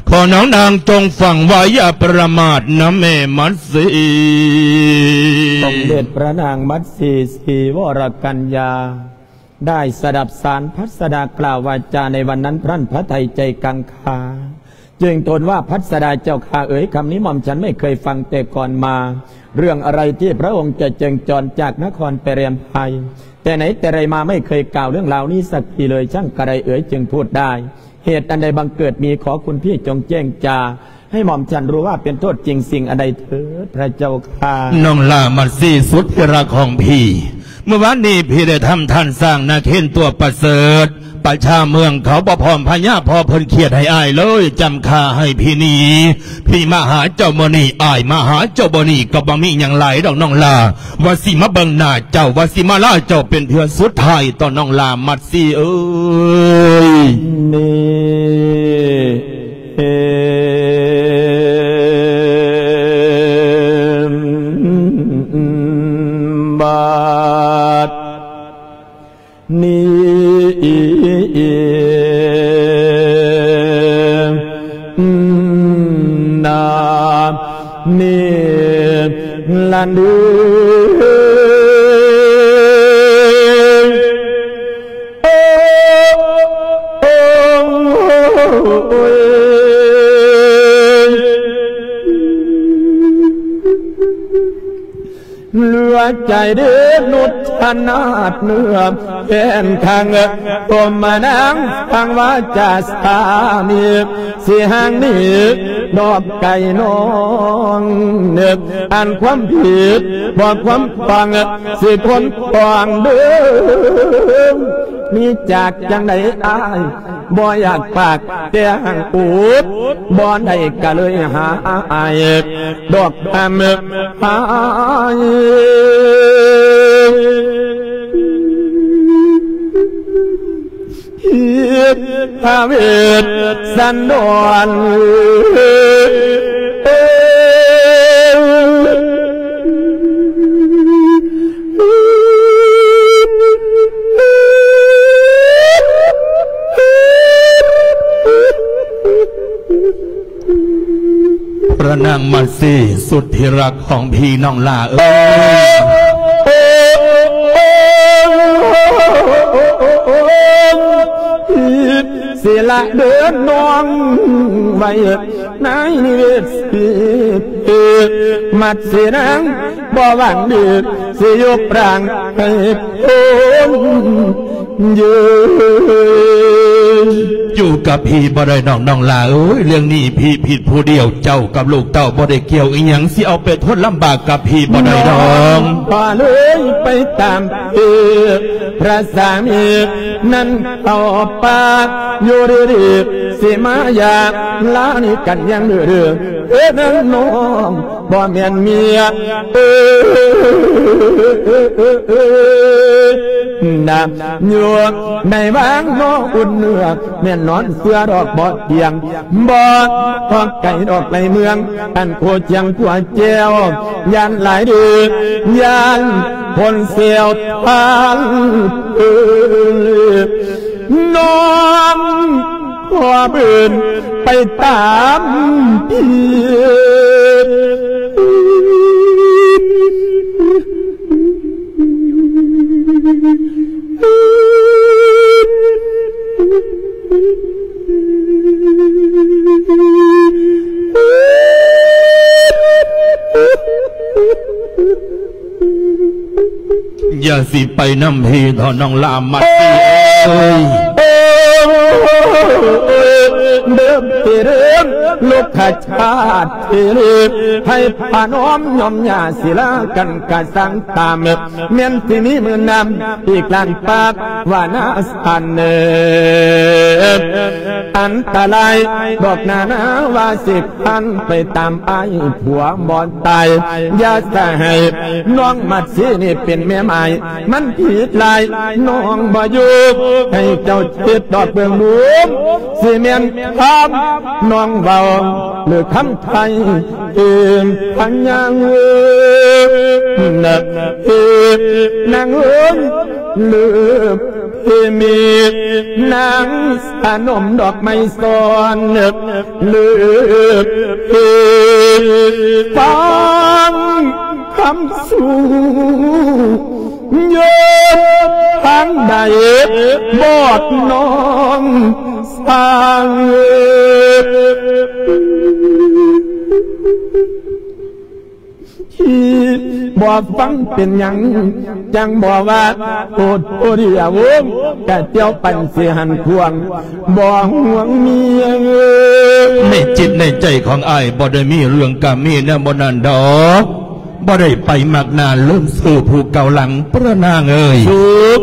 ຂໍນ້ອງນາງຈົ່ງຝັງໄວ້ຢ່າປະໝາດນະແມ່ມັດສີ. ສົມເດັດພະນາງມັດສີ ສີວໍລະກັນຍາ ໄດ້ສະດັບສານພັດສະດາກ່າວວາຈາໃນວັນນັ້ນ ພະລັນພະໄທໃຈກັງຄາ ຈຶ່ງທູນວ່າ ພັດສະດາເຈົ້າຂ້າເອີຍ, ຄຳນີ້ໝ່ອມສັນໄມ່ເຄີຍຟັງແຕ່ກ່ອນມາ. ເລື່ອງອະໄລທີ່ພະອົງຈະເຈິງຈອນຈາກນະຄອນໄປແລມໄພ ແຕ່ໄຫນແຕ່ໃດມາໄມ່ເຄີຍກ່າວເລື່ອງລາວນີ້ສັກທີເລີຍ, ຊ່າງກະໄດເອີຍຈຶ່ງພູດໄດ້. ເຫດອັນໃດບັງເກີດມີ, ຂໍຄຸນພີ່ຈົ່ງແຈ້ງຈາ ໃຫ້ໝ່ອມສັນຮູ້ວ່າເປັນໂທດຈິງສິ່ງອັນໃດເທີດ ພະເຈົ້າຂ້າ. ນ້ອງຫຼ້າມັດສີສຸດທີ່ຮັກຂອງພີ່, ເມື່ອວານນີ້ພີ່ໄດ້ທຳທ່ານຊ້າງນາເຄນຕົວປະເສີດ. ປະຊາເມືອງເຂົາບໍ່ພ້ອມພະຍາພໍ່ເພິ່ນຄຽດໃຫ້ອ້າຍເລີຍ, ຈຳຂ້າໃຫ້ພີ່ໜີ. ພີ່ມາຫາເຈົ້າມື້ນີ້, ອ້າຍມາຫາເຈົ້າມື້ນີ້, ກໍບໍ່ມີຫຍັງຫຼາຍດອກນ້ອງຫຼ້າ. ວ່າຊິມາເບິ່ງໜ້າເຈົ້າ, ວ່າຊິມາລາເຈົ້າເປັນເທື່ອສຸດທ້າຍ ຕໍ່ນ້ອງຫຼ້າມັດສີເອີຍ. ນີ້ ນີ້ລະເດີ ເຫຼືອໃຈເດີນຸດທະນາດເນື້ອແຟນຄັງ ຕົມມະນາງຟັງວາຈາສາມີ ຊິຫ່າງໜີດອກໄກນ້ອງ ອັນຄວາມຜິດບໍ່ຄວາມຕ້ອງ ຊິພົ້ນຕ້ອງເດີ ມີຈາກຈັ່ງໃດອ້າຍ ບໍ່ຢາກປາກແຕ່ຫາງອຸດ ບໍ່ໄດ້ກະເລີຍຫາອ້າຍ ດອກຄຳຫາຍ ຮີດພະເວດສັນດອນ ພະນາງມາຊີ ສຸດທີ່ຮັກຂອງພີ່ນ້ອງຫຼ້າເອີຍ ຊິລະເດີນນ້ອງໄວ້ໃນນິເວດ ມັດສີນາງບໍ່ຫວັງດີ ຊິຍົກຮ່າງໃຫ້ພົ້ນເຢີ ຢູ່ກັບພີ່ບໍ່ໄດ້ດອກນ້ອງຫຼ້າເອີຍ ເລື່ອງນີ້ພີ່ຜິດຜູ້ດຽວ ເຈົ້າກັບລູກເຕົ້າບໍ່ໄດ້ກ່ຽວອີ່ຫຍັງ ຊິເອົາໄປທົນລຳບາກກັບພີ່ບໍ່ໄດ້ດອກ ນ້ອງກໍເລີຍໄປຕາມເພ ພະສາມີນັ້ນເຂົ້າປ່າ ຢູ່ດີໆ ຊິມາຢ່າລານີ້ກັນຢ່າງດື້ໆ ເອີນາງນ້ອງ ບໍ່ແມ່ນເມຍ ເອີ ນະ ຢູ່ໃນວາງນອອຸ່ນເນື້ອ ແມ່ນນອນເຊື່ອດອກບໍ່ທ່ຽງ ບໍ່ອອກໄກດອກໄກເມືອງ ອັນໂຄຈຽງກົວແຈວ ຢ້ານຫຼາຍເດີ ຢ້ານຄົນແຊວທ່ານເອີຍ ນ້ອງຂໍເບິ່ນໄປຕາມທີ່ ຢ່າຊິໄປນຳພີ່ເຖາະນ້ອງຫຼ້າມາຊີເອີຍ ເດີມເດີມ ລູກຂະຊາດເທເລ ໃຫ້ພະນ້ອມຍອມຍ່າ ສິລາກັນກະສັງຕາມ ແມ່ນຊິມີມື້ນຳ ອີກລ້ານປາກວ່ານາສັນເນີ ອັນຕະລາຍດອກນານາວ່າຊິຄັນໄປຕາມອ້າຍຜົວບໍ່ຕາຍ ຢ່າສະໃຫ້ນ້ອງມັດສີນີ້ເປັນແມ່ໝ້າຍ ມັນຜິດຫຼາຍນ້ອງບໍ່ຢູ່ ໃຫ້ເຈົ້າຄິດດອກເບິ່ງດູ ຊິແມ່ນຄຳນ້ອງເວົ້າ ຫຼືຄຳໄທ ເອີ ພະຍາເອີ ນະ ເອີ ນາງເອີຍ ເລີບເພມີ ນາງສະໜົມດອກໄມ້ຊ້ອນ ເລີບເພ ຟັງຄຳສູ່ ເຢີດທາງໃດບອດນ້ອງ ສ້າງເອີຍ ທີ່ບໍ່ຟັງເປັນຫຍັງ ຈັ່ງບໍ່ວ່າໂອດໂອດຢາວົງ ກະຈຽວປັນຊິຫັນຂວາງ ບໍ່ຫ່ວງເມຍເອີຍ ໃນຈິດໃນໃຈຂອງອ້າຍບໍ່ໄດ້ມີເລື່ອງກາເມແນວບໍ່ນັ້ນດອກ. ບໍ່ໄດ້ໄປມັກໜ້າລືມຊື່ຜູ້ເກົ່າຫຼັງ ພະນາງເອີຍ. ສຸກ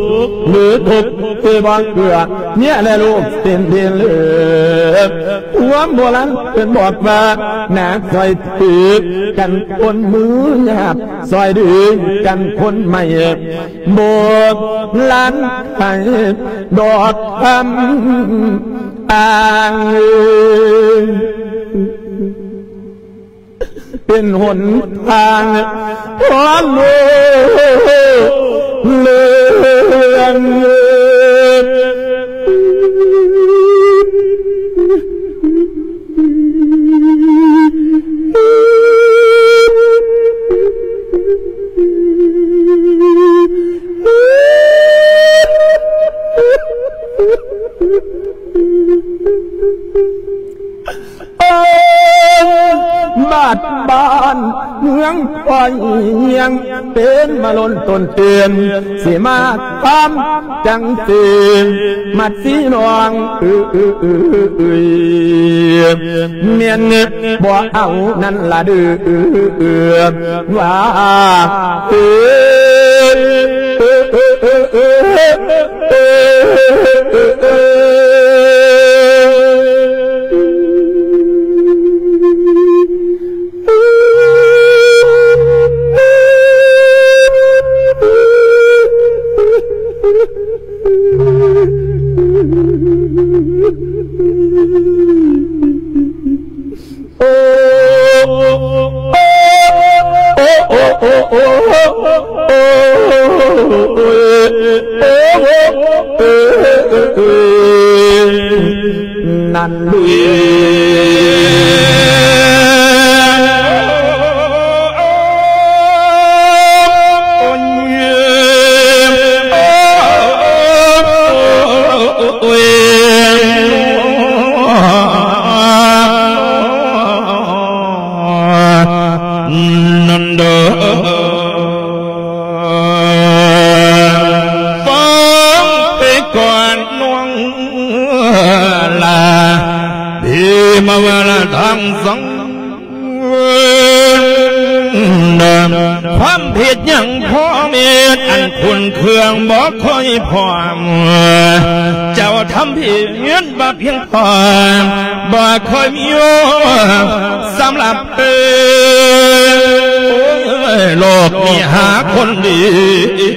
ຫຼືທຸກທີ່ບໍ່ເກືອ ເມຍແລະລູກເປັນທີ່ເລີກ ຄວາມໂບລານເພິ່ນບອກວ່າ ໜາກຊ່ອຍຖືກັນຄົນມືຫຍາບ ຊ່ອຍດຶງກັນຄົນໃໝ່ ໂບລານໃຫ້ດອກຄຳອ້າງ ເປັນຫົນທາງ ຂໍໂລດເລື່ອງ ເມືອງ ຄອຍຮຽງ ເປັນມາລົ້ນຕົ້ນເຕີນ ຊິມາຄວາມຈັງເຕີນ ມັດສີນ້ອງເອີຍ ແມ່ນບໍ່ເອົານັ້ນລະເດີ ວ່າເອີຍ ນັ້ນເລີຍ ໂອ້ຍ ນັ້ນເດີ ຟັງໄປກ່ອນນ້ອງຫຼ້າ ທີ່ມາວ່າລະທາງສັງ ຄວາມຜິດຫຍັງພໍ່ເມດ ອັນຂຸ້ນເຄືອງບໍ່ຄ່ອຍພ້ອມ ເຈົ້າທຳຜິດບາບພຽງພໍ ບໍ່ຄ່ອຍມີສຳລັບເອີຍ ໂລກນີ້ຫາຄົນດີ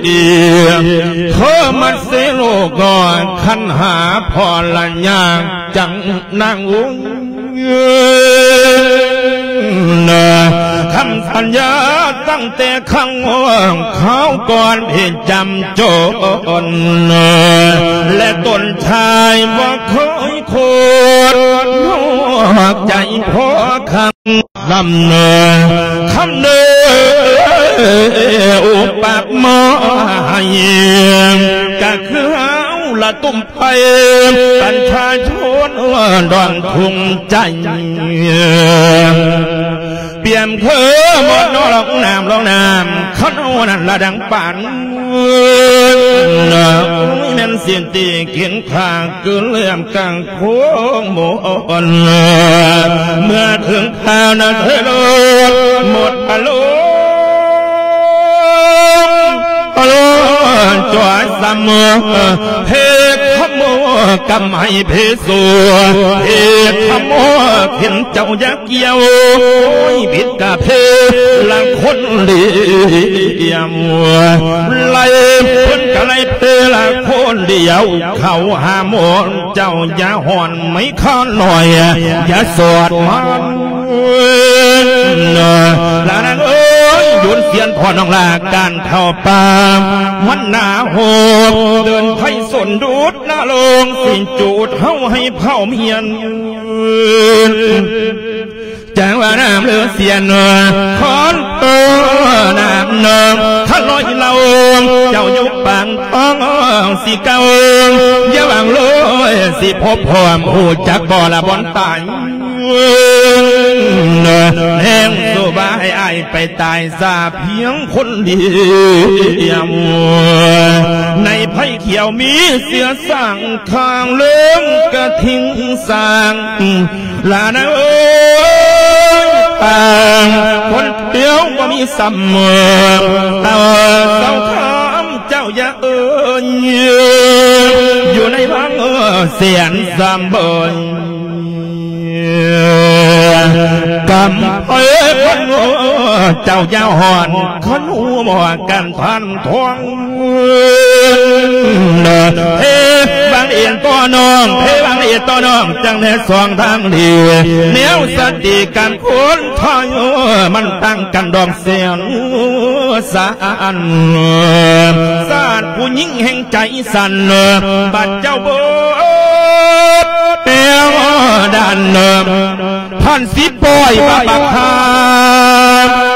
ເທີມັດເສໂລກນ້ອຍ ຄັນຫາພໍ່ລະຍາກ ຈັ່ງນາງອຸ້ງ ຄຳສັນຍາຕັ້ງແຕ່ຄັ້ງຄາວກ່ອນ ເພດຈຳຈົນ ແລະຕົນຊາຍບໍ່ເຄີຍໂຄດ ນອກໃຈພໍ່ຄັກ ລຳເນີ ຄຳເນີ ອຸປັບມາໃຫ້ ກະຄືເຮົາລະຕຸ້ມໄຟ ປະຊາຊົນດອນທຸງໃຈ ປຽມຄືໝົດນ້ອງນ້ຳ ນ້ອງນ້ຳ ຄັນເຮົານັ້ນລະດັງປານ ໂອ້ຍ ແມ່ນສິນຕີກິນຂ້າ ຄືເລື່ອງກາງໂຄ້ງໝົດ ເມື່ອເຖິງຄາວນະເທີໂລດ ໝົດອາລົມ ອາລົມຈອຍສະເໝີ ເພກຂະໂມກຳໄຫ້ເພໂສ ເພກຂະໂມເຫັນເຈົ້າຢາກ ກ່ຽວ ໂອ້ຍ ຜິດກະເພລະຄົນຫຼຽມ ໄລ່ເພິ່ນກະໄລ່ເພລະຄົນຫຼຽວ ເຂົ້າຫາໝົດເຈົ້າຢ່າຮ້ອນໄມ້ຄານ້ອຍ ຢ່າສອດມັນ ລະນາງເອີຍ ໂຍນສຽນພໍ່ນ້ອງລາ ການເຂົ້າປ່າມັນໜາໂຮບ ເດີນໄພສົນດູດນະລົງ ຊິຈູດເຮົາໃຫ້ເຜົາມຽນ ຈັ່ງວ່ານ້ຳເລືອດສຽນ ຄອນເອີ ນ້ຳເນີ ທະລອຍເລົ່າ ເຈົ້າຢູ່ປາງທ້ອງ ຊິເກົ່າ ຢ່າຫວັງເລີຍ ຊິພົບພ້ອມ ຮູ້ຈັກບໍ່ລະບ່ອນຕາຍ ແຮງສູ້ບໍ່ໃຫ້ອ້າຍໄປຕາຍ ສາພຽງຄົນດຽວ ໃນໄພຂຽວມີເສືອສາງ ຂ້າງເລີງກະທິງສາງ ລະນາເອີຍ ປາງຄົນດຽວບໍ່ມີຊ້ຳ ເອົາເສົາຄຳເຈົ້າຢ່າເອີຍ ຢູ່ໃນວັງແສນສາມເບີຍ ກຳເອີຍຄົນເຈົ້າຢ່າຮ້ອນ ຄັນຮູ້ບໍ່ວ່າການຜ່ານ ທອງ ເພບາງເອນຕໍ່ນ້ອງ ເພບາງເອນຕໍ່ນ້ອງ ຈັ່ງແນສອງທາງດີ ແນວສະຕິການຄົນໄທ ມັນຕ່າງກັນດອກແສນສານ ຊາດຜູ້ຍິງແຫ່ງໃຈສັ່ນ ບັດເຈົ້າເບີດແປວດານ ທ່ານຊິປ່ອຍມາບັກຫາ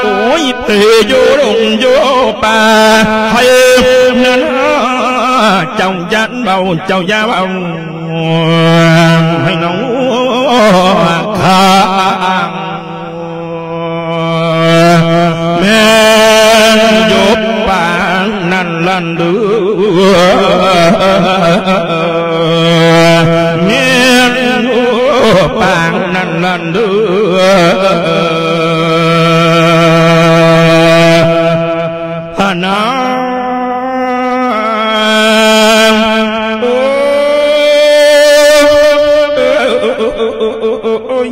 ໂອ້ຍ ເພຢູ່ດົງຢູ່ປ່າ ໃຫ້ນັ້ນ ເຈົ້າຢ່າເວົ້າ ເຈົ້າຢ່າເວົ້າ ໃຫ້ນ້ອງຂ້າ ປາງນັ້ນລະເດີ ພະນາງ ໂອ້ຍ ໂອ້ຍ ໂອ້ຍ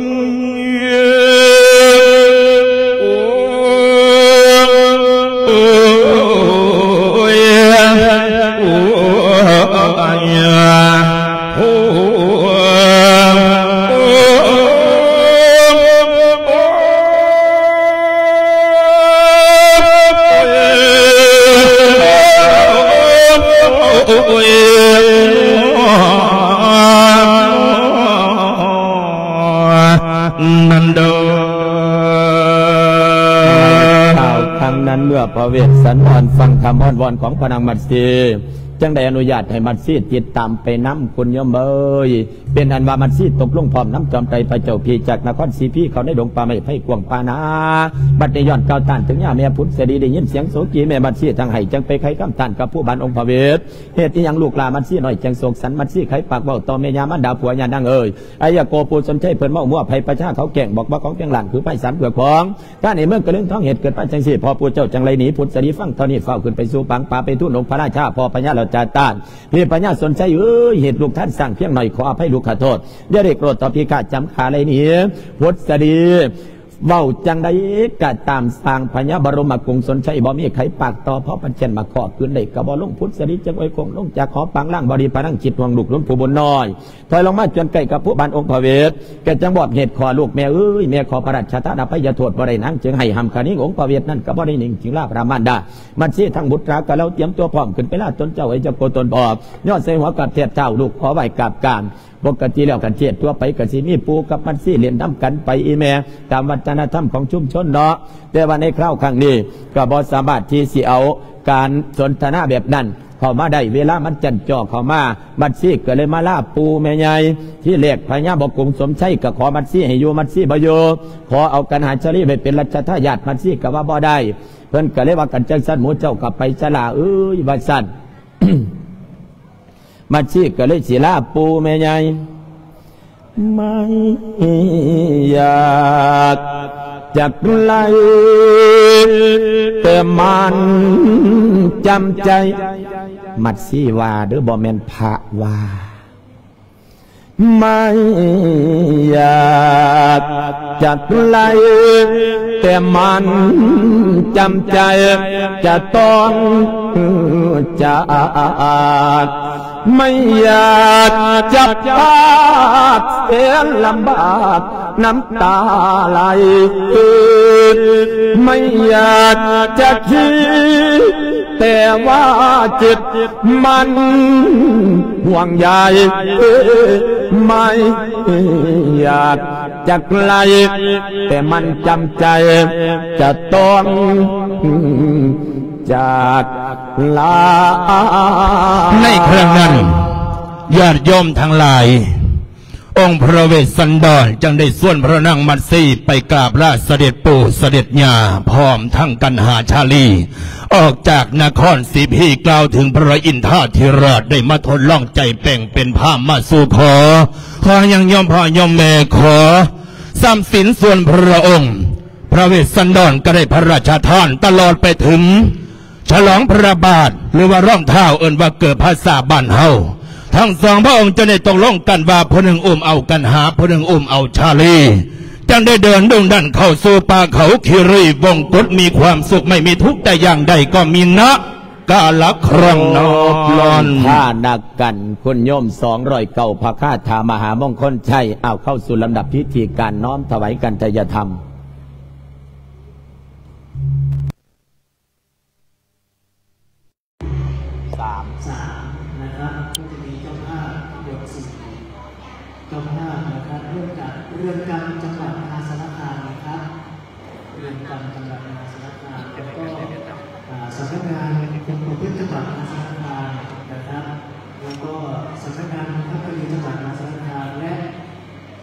ໂອ້ຍ ໂອ້ຍ ນັ້ນເດີ ຂ່າວຄັ້ງນັ້ນ ເມື່ອພະເວດສັນດອນຟັງຄຳອ້ອນວອນຂອງພະນາງມັດສີ ຈຶ່ງໄດ້ອະນຸຍາດໃຫ້ມັດສີຕິດຕາມໄປນຳ ຄຸນໂຍມເອີຍ. ເປັນອັນວ່າມັດສີຕົກລົງພ້ອມນຳຈອມໄຕພະເຈົ້າພີຈາກນະຄອນສີພີ ເຂົ້າໃນດົງປ່າໄມ້ໄພກວ້າງປ່ານາ. ບັດນີ້ຍ້ອນກ່າວຕ້ານເຖິງຍາແມ່ຜົນສະດີ ໄດ້ຍິນສຽງໂສກີແມ່ມັດສີທັງໄຫ້ ຈຶ່ງໄປໄຂຄຳຕ້ານກັບຜູ້ບ້ານອົງພະເວດ. ເຮັດອີ່ຫຍັງລູກຫຼ້າມັດສີນ້ອຍຈັ່ງໂສກສັນ? ມັດສີໄຂປາກເວົ້າຕໍ່ແມ່ຍ່າມານດາຜົວ ຍ່ານາງເອີຍ ອາຍະໂກ ຜູ້ສົນໄຊເພິ່ນເມົາມົວ ໄພປະຊາເຂົາແກ່ງ ບອກວ່າຂອງເປັນລ້ານຄືໄພສາມເຄືອຂອງ ການໃນເມືອງກະເລີງທອງເຮັດເກີດມາຈັ່ງຊີ້ ພໍ່ຜູ້ເຈົ້າຈັ່ງໄລໜີ ພຸດສະດີຟັງເທົ່ານີ້ ຟ້າວຂຶ້ນໄປສູ່ປາງປ່າ ໄປທູນອົງພະລາຊາ ພໍ່ພະຍາລາຊາຕານ ພີ່ພະຍາສົນໄຊເອີຍ ເຮັດລູກທ່ານສ້າງພຽງໜ້ອຍ ຂໍອະໄພລູກຂະໂທດ ຢ່າໄດ້ໂກຣດຕໍ່ພີຄາດຈຳຂ້າໄລໜີ ພຸດສະດີ ເວົ້າຈັ່ງໃດກະຕາມ ສ້າງພະຍາບະລົມມະກຸງສົນໄຊ ບໍ່ມີໄຂປາກຕໍ່ ພໍປັນແກ່ນມາຂໍຄືນໄດ້ກະບໍ່ລົງ ພຸດສະດີຈຶ່ງອວຍຄົງລົງຈາກຫໍ ປາງລ່າງບໍ່ດີພະນັງ ຄິດຫ່ວງລູກຫຼວງຜູ້ບຸນນ້ອຍ ຖອຍລົງມາຈົນໃກ້ກັບພູບ້ານອົງພະເວດ ແກຈຶ່ງບອກເຫດຂໍ ລູກແມ່ເອີຍ ແມ່ຂໍພະລາຊະທານອະໄພຍະໂທດບໍ່ໄດ້ນາງ ຈຶ່ງໃຫ້ຫ້າມຄະນິງອົງພະເວດນັ້ນກະບໍ່ໄດ້ໜິງ ຈຶ່ງລາພະມານດາ ມັດສີທັງບຸດຕາກະເລົາ ຕຽມຕົວພ້ອມຂຶ້ນໄປລາຕົນເຈົ້າ ໄອຈະໂກຕົນບອບ ຍ້ອນໃສ່ຫົວກາບແທບເທ້າ ລູກຂໍໄຫວ້ກາບການ. ປົກກະຕິແລ້ວ ຄັນເທດທົ່ວໄປກະຊິມີປູ່ກັບມັດສີຫຼິ້ນນຳກັນໄປອີ່ແມ່ ຕາມວັດທະນະທຳຂອງຊຸມຊົນເນາະ ແຕ່ວ່າໃນຄາວຄັ້ງນີ້ກະບໍ່ສາມາດທີ່ຊິເອົາການສົນທະນາແບບນັ້ນ ເຂົ້າມາໄດ້ ເວລາມັນຈັນຈໍ່ເຂົ້າມາ ມັດສີກໍເລີຍມາລາປູ່ແມ່ໃຫຍ່. ທີແລກພະຍາບໍກຸງສົມໄຊກໍຂໍມັດສີໃຫ້ຢູ່ ມັດສີບໍ່ຢູ່ ຂໍເອົາກັນຫາຊາລີໄວ້ເປັນລັດຊະທາຍາດ ມັດສີກໍວ່າບໍ່ໄດ້ ເພິ່ນກໍເລີຍວ່າ ຄັນຈັ່ງຊັ້ນໝູ່ເຈົ້າກໍໄປຊະຫຼ້າເອີຍ ວ່າຊັ້ນ. ມັດສີກໍເລີຍຊິລາປູ່ແມ່ໃຫຍ່ ໄມ່ຢາກຈັກໄລ ແຕ່ມັນຈຳໃຈ ມັດສີວ່າເດີ້ ບໍ່ແມ່ນພະວ່າ ໄມ່ຢາກຈັກໄລ ແຕ່ມັນຈຳໃຈຈະຕ້ອງຈາກ ໄມ່ຢາກຈັບປາກແສນລຳບາກ ນ້ຳຕາໄຫຼ ໄມ່ຢາກຈະຄິດ ແຕ່ວ່າເຈັບມັນຫ່ວງໃຍ ໄມ່ຢາກຈັກໄລ ແຕ່ມັນຈຳໃຈຈະຕ້ອງຈາກລາ. ໃນຄັ້ງນັ້ນ ຍາດໂຍມທັງຫຼາຍ ອົງພະເວດສັນດອນຈຶ່ງໄດ້ຊວນພະນາງມັດສີໄປກາບລາສະເດັດປູ່ສະເດັດຍ່າ ພ້ອມທັງກັນຫາຊາລີ ອອກຈາກນະຄອນສີພີ ກ່າວເຖິງພະອິນທາທິລາດໄດ້ມາທົດລອງໃຈແປງເປັນພາມມາສູ່ຂໍ ຂໍຍັງຍອມພໍ່ຍອມແມ່ ຂໍສຳສິນສ່ວນພະອົງ ພະເວດສັນດອນກໍໄດ້ພະລາຊະທານຕະຫຼອດໄປເຖິງ ສະຫຼອງພະລາບາດ ຫຼືວ່າລອງເທ້າ ເອີ້ນວ່າເກີບພາສາບ້ານເຮົາ ທັງສອງພະອົງຈະໄດ້ຕົກລົງກັນວ່າ ຜູ້ໜຶ່ງອຸ້ມເອົາກັນຫາ ຜູ້ໜຶ່ງອຸ້ມເອົາຊາລີ ຈັ່ງໄດ້ເດີນດຸ່ງດັນເຂົ້າສູ່ປ່າເຂົາຄີຣີວົງກົດ ມີຄວາມສຸກໄມ່ມີທຸກແຕ່ຢ່າງໃດ ກໍມີນະກາລະຄັ້ງນັ້ນ ຮອບທ່ານະກັນ ຄຸນໂຍມສອງຮ້ອຍເກົ້າ ພະຄາຖາມະຫາມົງຄົນໄຊ. ເອົາ ເຂົ້າສູ່ລຳດັບພິທີການນ້ອມຖວາຍກັນໄຕຍະທຳ. ສາມ ສาม นะครับ ก็จะมีเจ้าภาพทั้งหมดสี่ เจ้าภาพนะครับ เริ่มจากเรือนจำจังหวัดมหาสารคามนะครับ เรือนจำจังหวัดมหาสารคาม แล้วก็ อ่า สำนักงานคุมประพฤติจังหวัดมหาสารคามนะครับ แล้วก็สำนักงานบังคับคดีจังหวัดมหาสารคาม และ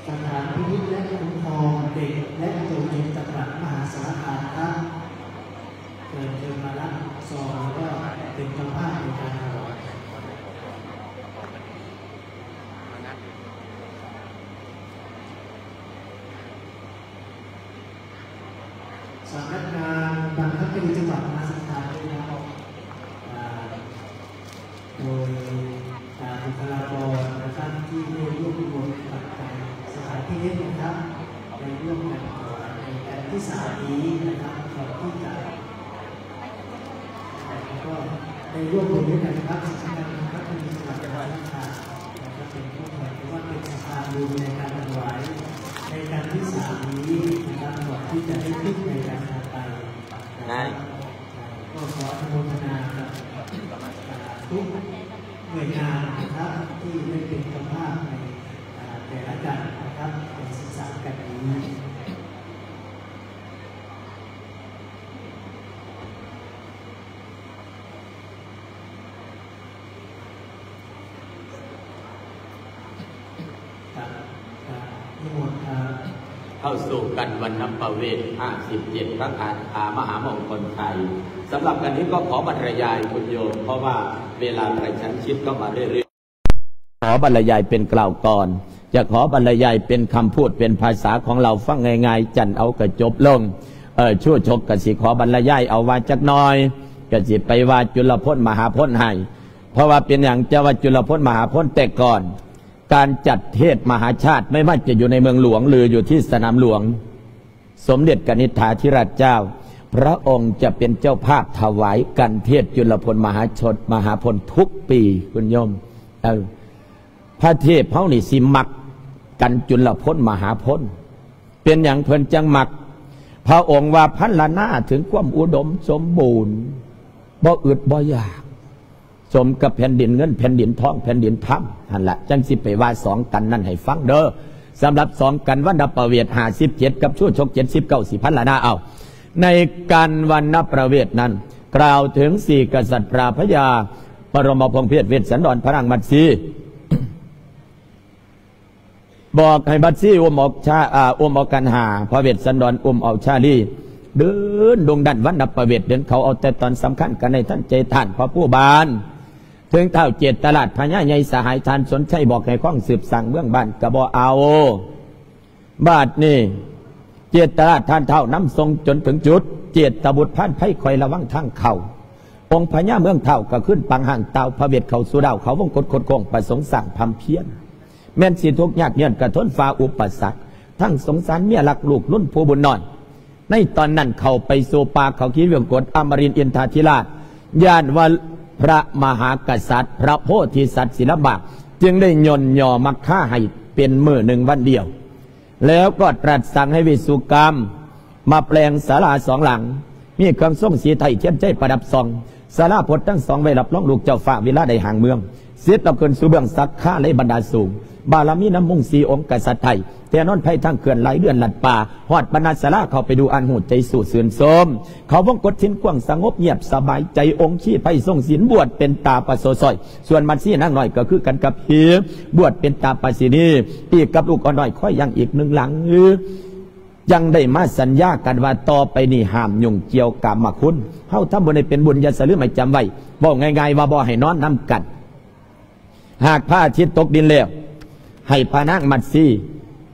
สถานพินิจและคุ้มครองเด็กและเยาวชนจังหวัดมหาสารคามครับ เชิญ เชิญมารับซองแล้วก็เป็นเจ้าภาพในการถวาย ສຳນັກງານບັງຄັບຄະດີຈັງຫວັດມະຫາສານຄາມ ໄດ້ຮັບ ອ່າ ໂດຍ ອ່າ ບຸກຄະລາກອນນະຄັບ ທີ່ໄດ້ລວບລວມປັດໄຈສະຖານທີ່ເຮັດນະຄັບ ໄດ້ຮ່ວມກັນຖວາຍໃນກັນທີສາມນີ້ນະຄັບ ກ່ອນທີ່ຈະ ແລ້ວກໍໄດ້ຮ່ວມມືກັນກັບສຳນັກງານພັກຄະດີຈັງຫວັດມະຫາສານຄາມນະຄັບ ເປັນຜູ້ແທນ ຫຼືວ່າເປັນສະພານບຸນໃນການຖວາຍໃນກັນທີສາມນີ້ນະຄັບ ກ່ອນທີ່ຈະໄດ້ຂຶ້ນໃນກັນຖັດໄປນະຄັບ. ກໍຂໍອະນຸໂມທະນາກັບ ອ່າ ທຸກໜ່ວຍງານນະຄັບ ທີ່ໄດ້ເປັນເຈົ້າພາບໃນ ອ່າ ແຕ່ລະກັນນະຄັບ ໃນສິບສາມກັນນີ້. ເຂົ້າສູ່ກັນວັນນະປະເວດຫ້າສິບເຈັດ ພະຄາຖາມະຫາມົງຄົນໄທ. ສຳລັບກັນນີ້ກໍຂໍບັນລະຍາຍຄຸນໂຍມ ເພາະວ່າເວລາກະຊັ້ນຊິດເຂົ້າມາເລື້ອຍໆ. ຂໍບັນລະຍາຍເປັນກ່າວກ່ອນ ຈະຂໍບັນລະຍາຍເປັນຄຳພູດເປັນພາສາຂອງລາວຟັງງ່າຍໆ ຈັນເອົາກະຈົບລົງ. ເອີ ຊູຊົກກະຊິຂໍບັນລະຍາຍເອົາວ່າຈັກໜ່ອຍ ກະຊິໄປວ່າຈຸລະພົນມະຫາພົນໃຫ້ ເພາະວ່າເປັນຫຍັງຈະວ່າຈຸລະພົນມະຫາພົນ? ແຕ່ກ່ອນການຈັດເທດມະຫາຊາດ ໄມ່ວ່າຈະຢູ່ໃນເມືອງຫຼວງ ຫຼື ຢູ່ທີ່ສະໜາມຫຼວງ ສົມເດັດກະນິດຖາທິລາດເຈົ້າ ພະອົງຈະເປັນເຈົ້າພາບຖວາຍກັນເທດຈຸລະພົນມະຫາຊົນ ມະຫາພົນທຸກປີ ຄຸນໂຍມ. ເອີ ພະເທບເຮົານີ້ຊິມັກກັນຈຸລະພົນມະຫາພົນ. ເປັນຫຍັງເພິ່ນຈັ່ງມັກ? ພະອົງວ່າພັນລະນາເຖິງຄວາມອຸດົມສົມບູນ ບໍ່ອຶດບໍ່ຢາກ ສົມກັບແຜ່ນດິນເງິນແຜ່ນດິນທອງແຜ່ນດິນທຳຫັ້ນລະ ຈັ່ງຊິໄປວ່າສອງກັນນັ້ນໃຫ້ຟັງເດີ້. ສຳລັບສອງກັນວັນນະປະເວດຫ້າສິບເຈັດ ກັບຊູຊົກເຈັດສິບເກົ້າ ຊິພັນລະນາເອົາ. ໃນກັນວັນນະປະເວດນັ້ນ ກ່າວເຖິງສີ່ກະສັດ ພະຍາ ບະລົມມະພົງເພດ ເວດສັນດອນ ພະນາງມັດສີ ບອກໃຫ້ບັດຊີອຸ້ມເອົາຊາ ອາ ອຸ້ມເອົາກັນຫາ, ພະເວດສັນດອນອຸ້ມເອົາຊາລີ. ເດີນດົງດັນວັນນະປະເວດ ເດີນເຂົ້າເອົາແຕ່ຕອນສຳຄັນ ກັນໃນທັນໃຈທ່ານພະພູບານ ເຖິງທ້າວເຈດຕະລາດພະຍາໃຫຍ່ສະຫາຍ ທ່ານສົນໄຊບອກໃຫ້ຄອງສືບສ້າງເມືອງບ້ານກະບໍ່ເອົາ. ບາດນີ້ເຈດຕະລາດທ່ານທ້າວນຳສົ່ງຈົນເຖິງຈຸດ ເຈດຕະບຸດພານໄພຄອຍລະວັງທາງເຂົ້າ. ອົງພະຍາເມືອງທ້າວກະຄືນປາງຮ່າງຕ່າວພະເວດເຂົ້າສູ່ດາວເຂົາວົງກົດຄົດໂຄ້ງ ປະສົງສ້າງພຳພຽນ. ແມ່ນຊິທຸກຍາກຍ້ອນກະທົນຝ່າອຸປະສັກ ທັງສົງສານເມຍລັກລູກລຸນຜູ້ບຸນນ້ອຍ. ໃນຕອນນັ້ນເຂົ້າໄປສູ່ປ່າເຂົາຄີວຽງກົດ ອະມະລິນອິນທາທິລາດ ຢ້ານວ່າພະມະຫາກະສັດ ພະໂພທິສັດຊິລຳບາກ ຈຶ່ງໄດ້ຍ່ອນຍໍມັກຄາໃຫ້ເປັນມື້ໜຶ່ງວັນດຽວ. ແລ້ວກໍຕລັດສັ່ງໃຫ້ວິສຸກຳມາແປງສາລາສອງຫຼັງ ມີເຄື່ອງຊົງສີໄທທຽນໄຈປະດັບສ່ອງ. ສາລາພົດທັງສອງໄວ້ຮັບຮອງລູກເຈົ້າຟ້າເວລາໄດ້ຫາງເມືອງ. ເສັດແລ້ວຂຶ້ນສູ່ເບື້ອງສັກຄາໃນບັນດາສູງ ບາລະມີນ້ຳມຸງສີ່ອົງກະສັດໄທ ແຕ່ນອນໄພທາງເຄື່ອນຫຼາຍເດືອນລັດປ່າ ຮອດບັນດາສາລາເຂົ້າໄປດູອ່ານຮູ້ໃຈສູ້ຊື່ນຊົມ. ເຂົາວົງກົດສິນກວ້າງສະຫງົບງຽບສະບາຍໃຈ ອົງຄີໄພຊົງສິນບວດເປັນຕາປະໂສຊອຍ. ສ່ວນມັດຊີນາງນ້ອຍກໍຄືກັນກັບຮີ ບວດເປັນຕາປາສິນີ ອີກກັບລູກອ່ອນນ້ອຍຄອຍຢ່າງອີກໜຶ່ງຫຼັງ. ຈັ່ງໄດ້ມາສັນຍາກັນວ່າ ຕໍ່ໄປນີ້ຫ້າມຫຍຸ້ງກ່ຽວກາມມະຄຸນ. ເຮົາທຳບຸນໃຫ້ເປັນບຸນ ຢ່າສະລືມໃຫ້ຈຳໄວ້. ເວົ້າງ່າຍໆວ່າບໍ່ໃຫ້ນອນນຳກັນ. ຫາກພະອາທິດຕົກດິນແລ້ວ ໃຫ້ພະນາງມັດຊີ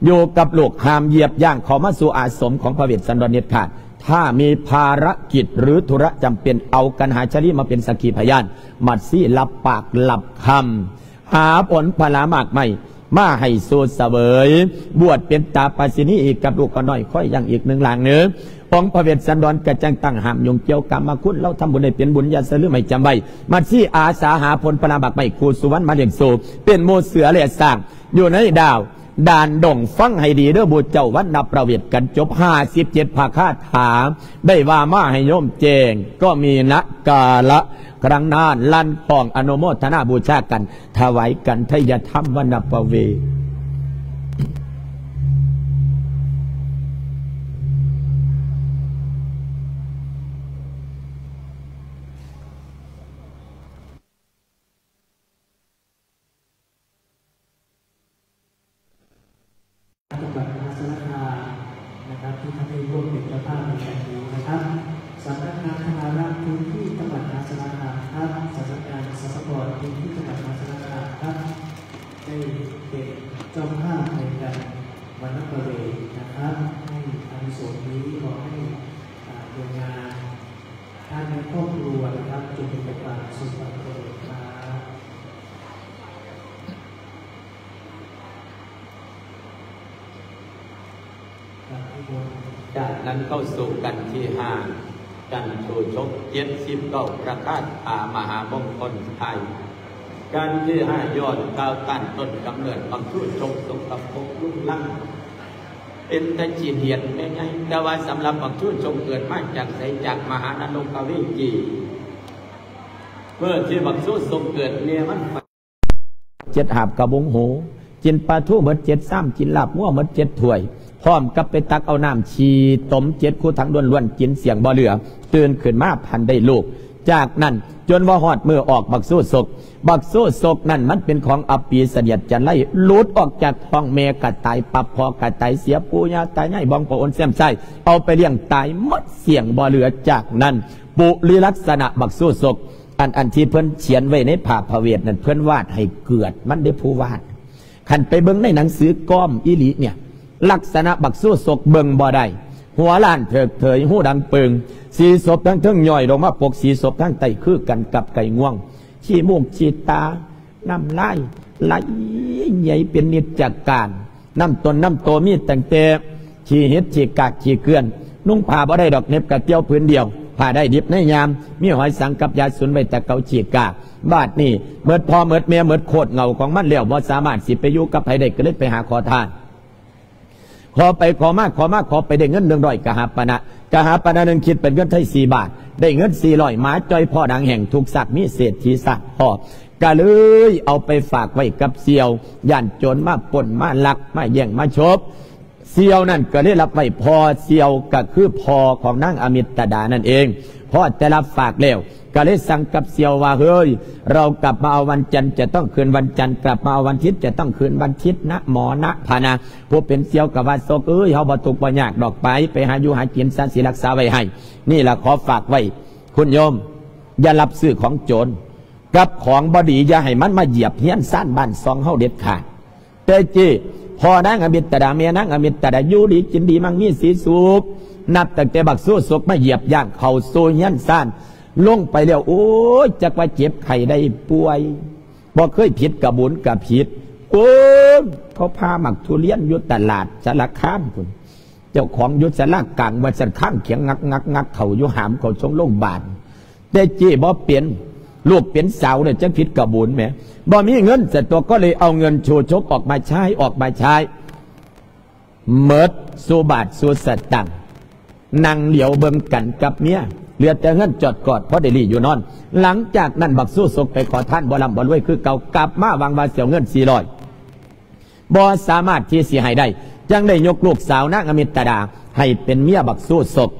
ຢູ່ກັບລູກ ຫ້າມຢຽບຍ່າງເຂົ້າມາສູ່ອາສົມຂອງພະເວດສັນດອນເດັດຂາດ. ຖ້າມີພາລະກິດ ຫຼື ທຸລະຈຳເປັນ ເອົາກັນຫາຊາລີມາເປັນສັກຂີພະຍານ. ມັດຊີລັບປາກລັບຄຳ ຫາຜົນຜະລາໝາກໄມ້ມາໃຫ້ສູ່ສະເຫວີຍ ບວດເປັນຕາປາສິນີ ອີກກັບລູກຂະນ້ອຍຄອຍຢ່າງອີກໜຶ່ງຫຼັງເນີ. ອົງພະເວດສັນດອນກະຈັ່ງຕັ້ງຫ້າມຫຍຸ້ງກ່ຽວກາມມະຄຸນ. ເຮົາທຳບຸນໃຫ້ເປັນບຸນ ຢ່າສະລືມໃຫ້ຈຳໄວ້. ມັດຊີອາສາຫາຜົນຜະລາໝາກໄມ້ຄູ່ສຸວັນມາລ້ຽງໂຊ ເປັນໝູ່ເສືອແລະຊ້າງ ຢູ່ໃນດາວດ່ານດົງ. ຟັງໃຫ້ດີເດີໝູ່ເຈົ້າ ວັນນະປະເວດກັນຈົບຫ້າສິບເຈັດພະຄາຖາ ໄດ້ວ່າມາໃຫ້ໂຍມແຈ້ງ ກໍມີນະກາລະກະລັງນານ ລັນຫ້ອງອະນຸໂມທະນາບູຊາກັນ ຖວາຍກັນໄທຍະທຳວັນນະປະເວດ. จังหวัดมหาสารคามนะครับ ที่ท่านได้ร่วมเป็นเจ้าภาพในครั้งนี้นะครับ สำนักงานธนารักษ์พื้นที่จังหวัดมหาสารคามครับ สำนักงานสรรพากรพื้นที่จังหวัดมหาสารคามครับ ได้เป็นเจ้าภาพในการวันนประเวณนะครับ ให้อานิสงส์นี้ขอให้ อ่า งาน ท่านในครอบครัวนะครับ จงเป็นประธานสู่พระเจริญครับ ครับ นิมนต์ ຈາກນັ້ນເຂົ້າສູ່ກັນທີຫ້າ ກັນໂຊຊົກເຈັດສິບເກົ້າ ປະກາດພາມະຫາມົງຄົນໄທ ກັນທີຫ້າ ຍ້ອນກ່າວຕ້ານຕົ້ນກຳເນີດບັກຊູຊົກ ສົກກະປົກລຸງລັງ ເປັນຕາຂີ້ຫຽດແມ່ໃຫຍ່ ແຕ່ວ່າສຳລັບບັກຊູຊົກເກີດມາຈາກໃສ? ຈາກມະຫານະລົກກະເວຈີ ເມື່ອທີ່ບັກຊູຊົກເກີດ ແມ່ມັນ ເຈັດຫາບກະບົງໂຫ ກິນປາທູເບິດເຈັດຊາມ ກິນລາບງົວເບິດເຈັດຖ້ວຍ ພ້ອມກັບໄປຕັກເອົານ້ຳຂີ້ຕົມເຈັດຄູຖັງລ້ວນໆ ກິນສ່ຽງບໍ່ເຫຼືອ ຕື່ນຂຶ້ນມາພັນໄດ້ລູກ. ຈາກນັ້ນຈົນວ່າຮອດມື້ອອກບັກຊູຊົກ ບັກຊູຊົກນັ້ນມັນເປັນຂອງອັບປີສະຫຽດຈັນໄລ ຫຼຸດອອກຈາກທ້ອງແມ່ກະຕາຍປັບ ພໍ່ກະຕາຍເສຍ ປູ່ຍ່າຕາຍາຍ ບອງປະໂອນແຊມຊາຍ ເອົາໄປລ້ຽງຕາຍໝົດສ່ຽງບໍ່ເຫຼືອ. ຈາກນັ້ນ ປຸລິລັກສະນະບັກຊູຊົກ ອັນ ອັນທີ່ເພິ່ນຂຽນໄວ້ໃນຜ້າພະເວດນັ້ນ ເພິ່ນວາດໃຫ້ເກີດມັນເດ້ ຜູ້ວາດ. ຄັນໄປເບິ່ງໃນໜັງສືກອມອີ່ຫຼີເນ່ຍ ລັກສະນະບັກຊູຊົກເບິ່ງບໍ່ໄດ້ ຫົວລ້ານເຖິກເຖິຍ ຫູດັງປຶ່ງ ສີສົບທາງເທິງຍ້ອຍລົງມາປົກສີສົບທາງໃຕ້ ຄືກັນກັບໄກ່ງວງ ຂີ້ມູກຂີ້ຕາ ນ້ຳລາຍໄຫຼໃຫຍ່ເປັນນິດຈະການ. ນ້ຳຕົນນ້ຳໂຕມີຕັ້ງແຕ່ຂີ້ຫີດ ຂີ້ກາກ ຂີ້ເກືອນ ນຸ່ງຜ້າບໍ່ໄດ້ດອກ ເໜັບກະກ່ຽວຜືນດຽວ ຜ້າໄດ້ດິບໃນຍາມ ມີຫອຍສັງກັບຢາສູນໄວ້ແຕ່ເກົ່າ ຂີ້ກາກ. ບາດນີ້ໝົດພໍ່ໝົດແມ່ ໝົດໂຄດເຫງົ້າຂອງມັນແລ້ວ ບໍ່ສາມາດຊິໄປຢູ່ກັບໃຜໄດ້ ກໍເລີຍໄປຫາຂໍທານ ຂໍໄປຂໍມາ ຂໍມາຂໍໄປ ໄດ້ເງິນໜຶ່ງຮ້ອຍກະຫາປະນະ ກະຫາປະນະໜຶ່ງຄິດເປັນເງິນໄທສີ່ບາດ ໄດ້ເງິນສີ່ຮ້ອຍ ໝາຈ່ອຍພໍໜາງແຫ້ງ ທຸກຊາກມີເສດຖີຊາກພໍ ກະເລີຍເອົາໄປຝາກໄວ້ກັບສ່ຽວ ຢ້ານໂຈນມາປຸ້ນມາລັກ ມາແຍ່ງມາໂຊບ. ສ່ຽວນັ້ນກະເລີຍຮັບໄວ້ພໍ່ ສ່ຽວກະຄືພໍ່ຂອງນາງອະມິດຕະດານັ້ນເອງ. ພໍແຕ່ຮັບຝາກແລ້ວ ກະເລີຍສັ່ງກັບສ່ຽວວ່າ ເຮີ້ຍ ເຮົາກັບມາເອົາວັນຈັນ ຈະຕ້ອງຄືນວັນຈັນ ກັບມາເອົາວັນທິດ ຈະຕ້ອງຄືນວັນທິດນະ ໝໍນະພະນະ. ຜູ້ເປັນສ່ຽວກະວ່າ ສົກເອີຍ ເຮົາບໍ່ທຸກບໍ່ຍາກດອກ ໄປ ໄປຫາຢູ່ຫາກິນຊະ ຊິຮັກສາໄວ້ໃຫ້. ນີ້ລະຂໍຝາກໄວ້ ຄຸນໂຍມ ຢ່າຮັບຊື້ຂອງໂຈນ ກັບຂອງບໍ່ດີ ຢ່າໃຫ້ມັນມາຢຽບເຮືອນຊານບ້ານຊ່ອງເຮົາເດັດຂາດ. ແຕ່ເຈ້ ພໍ່ນາງອະມິດຕະດາ ແມ່ນາງອະມິດຕະດາ ຢູ່ດີກິນດີ ມັ່ງມີສີສຸກ ນັບຕັ້ງແຕ່ບັກຊູສົກມາຢຽບຍ່າງເຂົ້າສູ່ເຮືອນຊານ ລົງໄປແລ້ວ ໂອ້ຍ ຈັກວ່າເຈັບໄຂ້ໄດ້ປ່ວຍ ບໍ່ເຄີຍຜິດກະບຸນກະຜິດ ໂອ້ຍ ເຂົາຜ່າໝາກທຸລຽນຢູ່ຕະຫຼາດສາລະຄາມພຸ້ນ ເຈົ້າຂອງຢູ່ສາລາກາງ ວ່າຊັ້ນ ຄາງຂຽງງັກໆໆ ເຂົ້າຢູ່ຫາມເຂົ້າຊົງໂລງບານ. ແຕ່ເຈ້ບໍ່ເປັນ ລູກເປັນສາວເດ້ ຈັກຜິດກະບຸນແໝ ບໍ່ມີເງິນ ສະຕົວກໍເລີຍເອົາເງິນຊູຊົກອອກມາໃຊ້ ອອກມາໃຊ້ ໝົດສູ່ບາດສູ່ສະຕັງ ນັ່ງຫຼຽວເບິ່ງກັນກັບເມຍ ເຫຼືອແຕ່ເຮືອນຈອດກອດ ພໍໄດ້ລີ້ຢູ່ນອນ. ຫຼັງຈາກນັ້ນ ບັກຊູສົກໄປຂໍທານ ບໍ່ລ່ຳບໍ່ລວຍຄືເກົ່າ ກັບມາຫວັງວ່າຊິເອົາເງິນສີ່ຮ້ອຍ ບໍ່ສາມາດທີ່ຊິໃຫ້ໄດ້ ຈຶ່ງໄດ້ຍົກລູກສາວນາງອະມິດຕະດາໃຫ້ເປັນເມຍບັກຊູສົກ.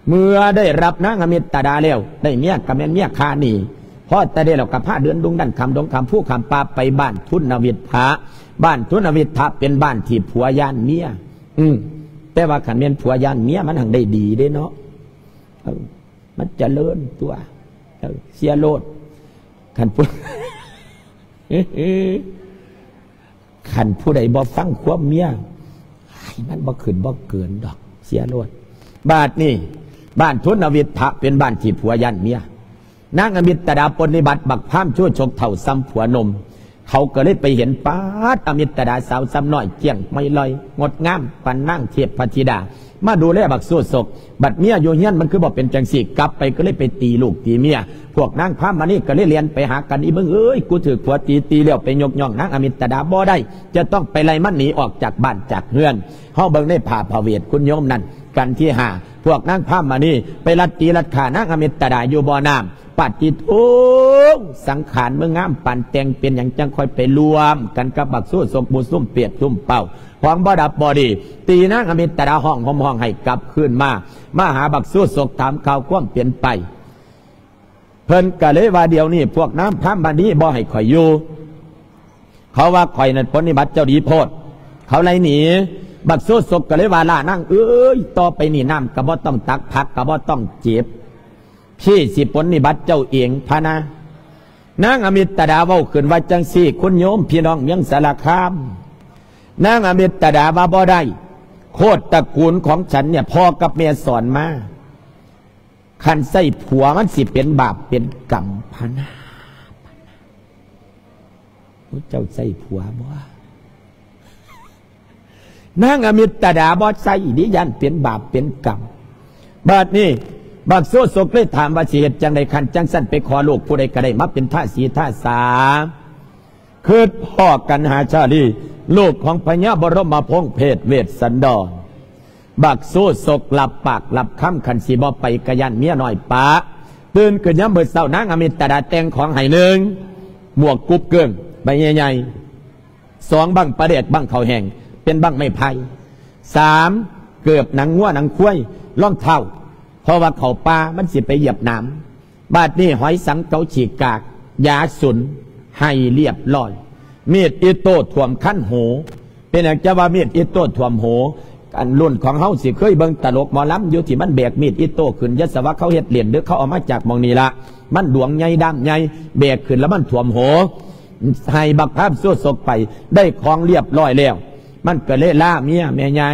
ເມື່ອໄດ້ຮັບນາງອະມິດຕະດາແລ້ວ ໄດ້ເມຍກະແມ່ນເມຍຂ້າໜີ ພໍແຕ່ໄດ້ແລ້ວກະພາເດີນດຸ່ງດັນ ຂ້າມດົງຂ້າມພູຂ້າມປ່າ ໄປບ້ານທຸນນະວິດທະ. ບ້ານທຸນນະວິດທະເປັນບ້ານທີ່ຜົວຢ້ານເມຍ ອື ແຕ່ວ່າຄັນແມ່ນຜົວຢ້ານເມຍ ມັນຫັ້ນໄດ້ດີເດ້ເນາະ ເອີ ມັນຈະເລີນຕົວ ເອີ ເສຍໂລດ ຄັນຜູ້ ຄັນຜູ້ໃດບໍ່ຟັງຄວາມເມຍ ມັນບໍ່ຂຶ້ນບໍ່ເກີນດອກ ເສຍໂລດ. ບາດນີ້ ບ້ານທຸນນະວິດທະເປັນບ້ານທີ່ຜົວຢ້ານເມຍ. ນາງອະມິດຕະດາປົນນິບັດ ບັກພາມຊູຊົກເຖົ້າສ່ຳຜົວໜຸ່ມ ເຂົາກໍເລີຍໄປເຫັນ ປາດ ອະມິດຕະດາສາວສ່ຳນ້ອຍ ກ້ຽງໄມລອຍ ງົດງາມປານນາງເທບພະທິດາ ມາດູແລບັກຊູຊົກ. ບັດເມຍຢູ່ເຮືອນມັນຄືບໍ່ເປັນຈັ່ງຊີ້ ກັບໄປກໍເລີຍໄປຕີລູກຕີເມຍ. ພວກນາງພາມມະນີກໍເລີຍແລ່ນໄປຫາກັນ ອີເບິ່ງເອີຍ ກູຖືກຜົວຕີ ຕີແລ້ວໄປຍົກຍ້ອງນາງອະມິດຕະດາບໍ່ໄດ້ ຈະຕ້ອງໄປໄລ່ມັນໜີອອກຈາກບ້ານຈາກເຮືອນ. ເຮົາເບິ່ງໃນຜ້າພະເວດຄຸນໂຍມນັ້ນ ກັນທີຫ້າ ພວກນາງພາມມະນີໄປລັດຕີລັດຂ້ານາງອະມິດຕະດາຢູ່ບໍ່ນ້ຳ. ປາດຕິໂທ ສັງຂານເມືອງງາມປານແຕ່ງ ເປັນຫຍັງຈັ່ງຄ່ອຍໄປລວມກັນກັບບັກຊູຊົກ ໝູ່ຊຸມເປດຊຸມເປົ້າ ຂອງບໍ່ດັບບໍ່ດີ ຕີນາງອະມິດຕະດາຮ້ອງຫ່ມຮ້ອງໄຫ້ກັບຄືນມາ ມາຫາບັກຊູຊົກ ຖາມຂ່າວຄວາມເປັນໄປ. ເພິ່ນກະເລີຍວ່າ ດຽວນີ້ພວກນາງພາມມະນີບໍ່ໃຫ້ຂ້ອຍຢູ່ ເຂົາວ່າຂ້ອຍນັ້ນປົນນິບັດເຈົ້າດີໂພດ ເຂົາໄລ່ໜີ. ບັກຊູຊົກກະເລີຍວ່າ ລ້ານາງເອີຍ ຕໍ່ໄປນີ້ນ້ຳກະບໍ່ຕ້ອງຕັກ ຜັກກະບໍ່ຕ້ອງເກັບ ພີ່ຊິປົນນິບັດເຈົ້າເອງ ພະນາ. ນາງອະມິດຕະດາເວົ້າຂຶ້ນວ່າຈັ່ງຊີ້ ຄຸນໂຍມ ພີ່ນ້ອງເມືອງສາລະຄາມ ນາງອະມິດຕະດາວ່າ ບໍ່ໄດ້ ໂຄດຕະກູນຂອງສັນເນ່ຍ ພໍ່ກັບແມ່ສອນມາ ຄັນໃຊ້ຜົວມັນຊິເປັນບາບເປັນກຳພະນາ. ໂອ້ ເຈົ້າໃຊ້ຜົວບໍ່? ນາງອາມິດຕະດາບໍ່ໃຊ້ເດ້ ຢ້ານເປັນບາບເປັນກຳ. ບາດນີ້ບັກໂຊສົກເລີຍຖາມວ່າ ຊິເຮັດຈັ່ງໃດ? ຄັນຈັ່ງຊັ້ນໄປຂໍລູກຜູ້ໃດກໍໄດ້ມາເປັນທາສີທາສາ. ຄິດພໍ້ກັນຫາຊາລີ ລູກຂອງພະຍາບໍລົມມະພົງເພດເວດສັນດອນ. ບັກໂຊສົກລັບປາກລັບຄຳ ຄັນຊິບໍ່ໄປກໍຢ້ານເມຍນ້ອຍປະ. ຕື່ນຂຶ້ນຍາມມື້ເຊົ້າ ນາງອາມິດຕະດາແຕ່ງຂອງໃຫ້: ໜຶ່ງ ໝວກກຸບເກີ້ງໃບໃຫຍ່ໆ, ສອງ ບັ້ງປາແດກ ບັ້ງເຂົ້າແຫ້ງ ເປັນບັ້ງໄມ້ໄຜ່, ສາມ ເກີບໜັງງົວໜັງຄວາຍ, ລອງເທົ້າ ເພາະວ່າເຂົ້າປ່າມັນຊິໄປຢຽບໜາມ. ບາດນີ້ຫອຍສັງເກົາຂີ້ກາກ ຢາສຸນ ໃຫ້ລຽບຮ້ອຍ. ມີດອິໂຕ້ຖ້ວມຄັນຫູ. ເປັນຫຍັງຈະວ່າມີດອິໂຕ້ຖ້ວມຫູ? ອັນລຸ້ນຂອງເຮົາຊິເຄີຍເບິ່ງຕະຫຼົກໝໍລຳຢູ່ ທີ່ມັນແບກມີດອິໂຕ້ຂຶ້ນ ຢ່າສະວ່າເຂົາເຮັດເລ່ນເດີ້ ເຂົາເອົາມາຈາກໝ່ອງນີ້ລະ. ມັນດວງໃຫຍ່ດຳໃຫຍ່ ແບກຂຶ້ນລະມັນຖ້ວມຫູ. ໃຫ້ບັກພາມໂຊສົກໄປ ໄດ້ຂອງລຽບຮ້ອຍແລ້ວ ມັນກໍເລີຍລາເມຍແມ່ໃຫຍ່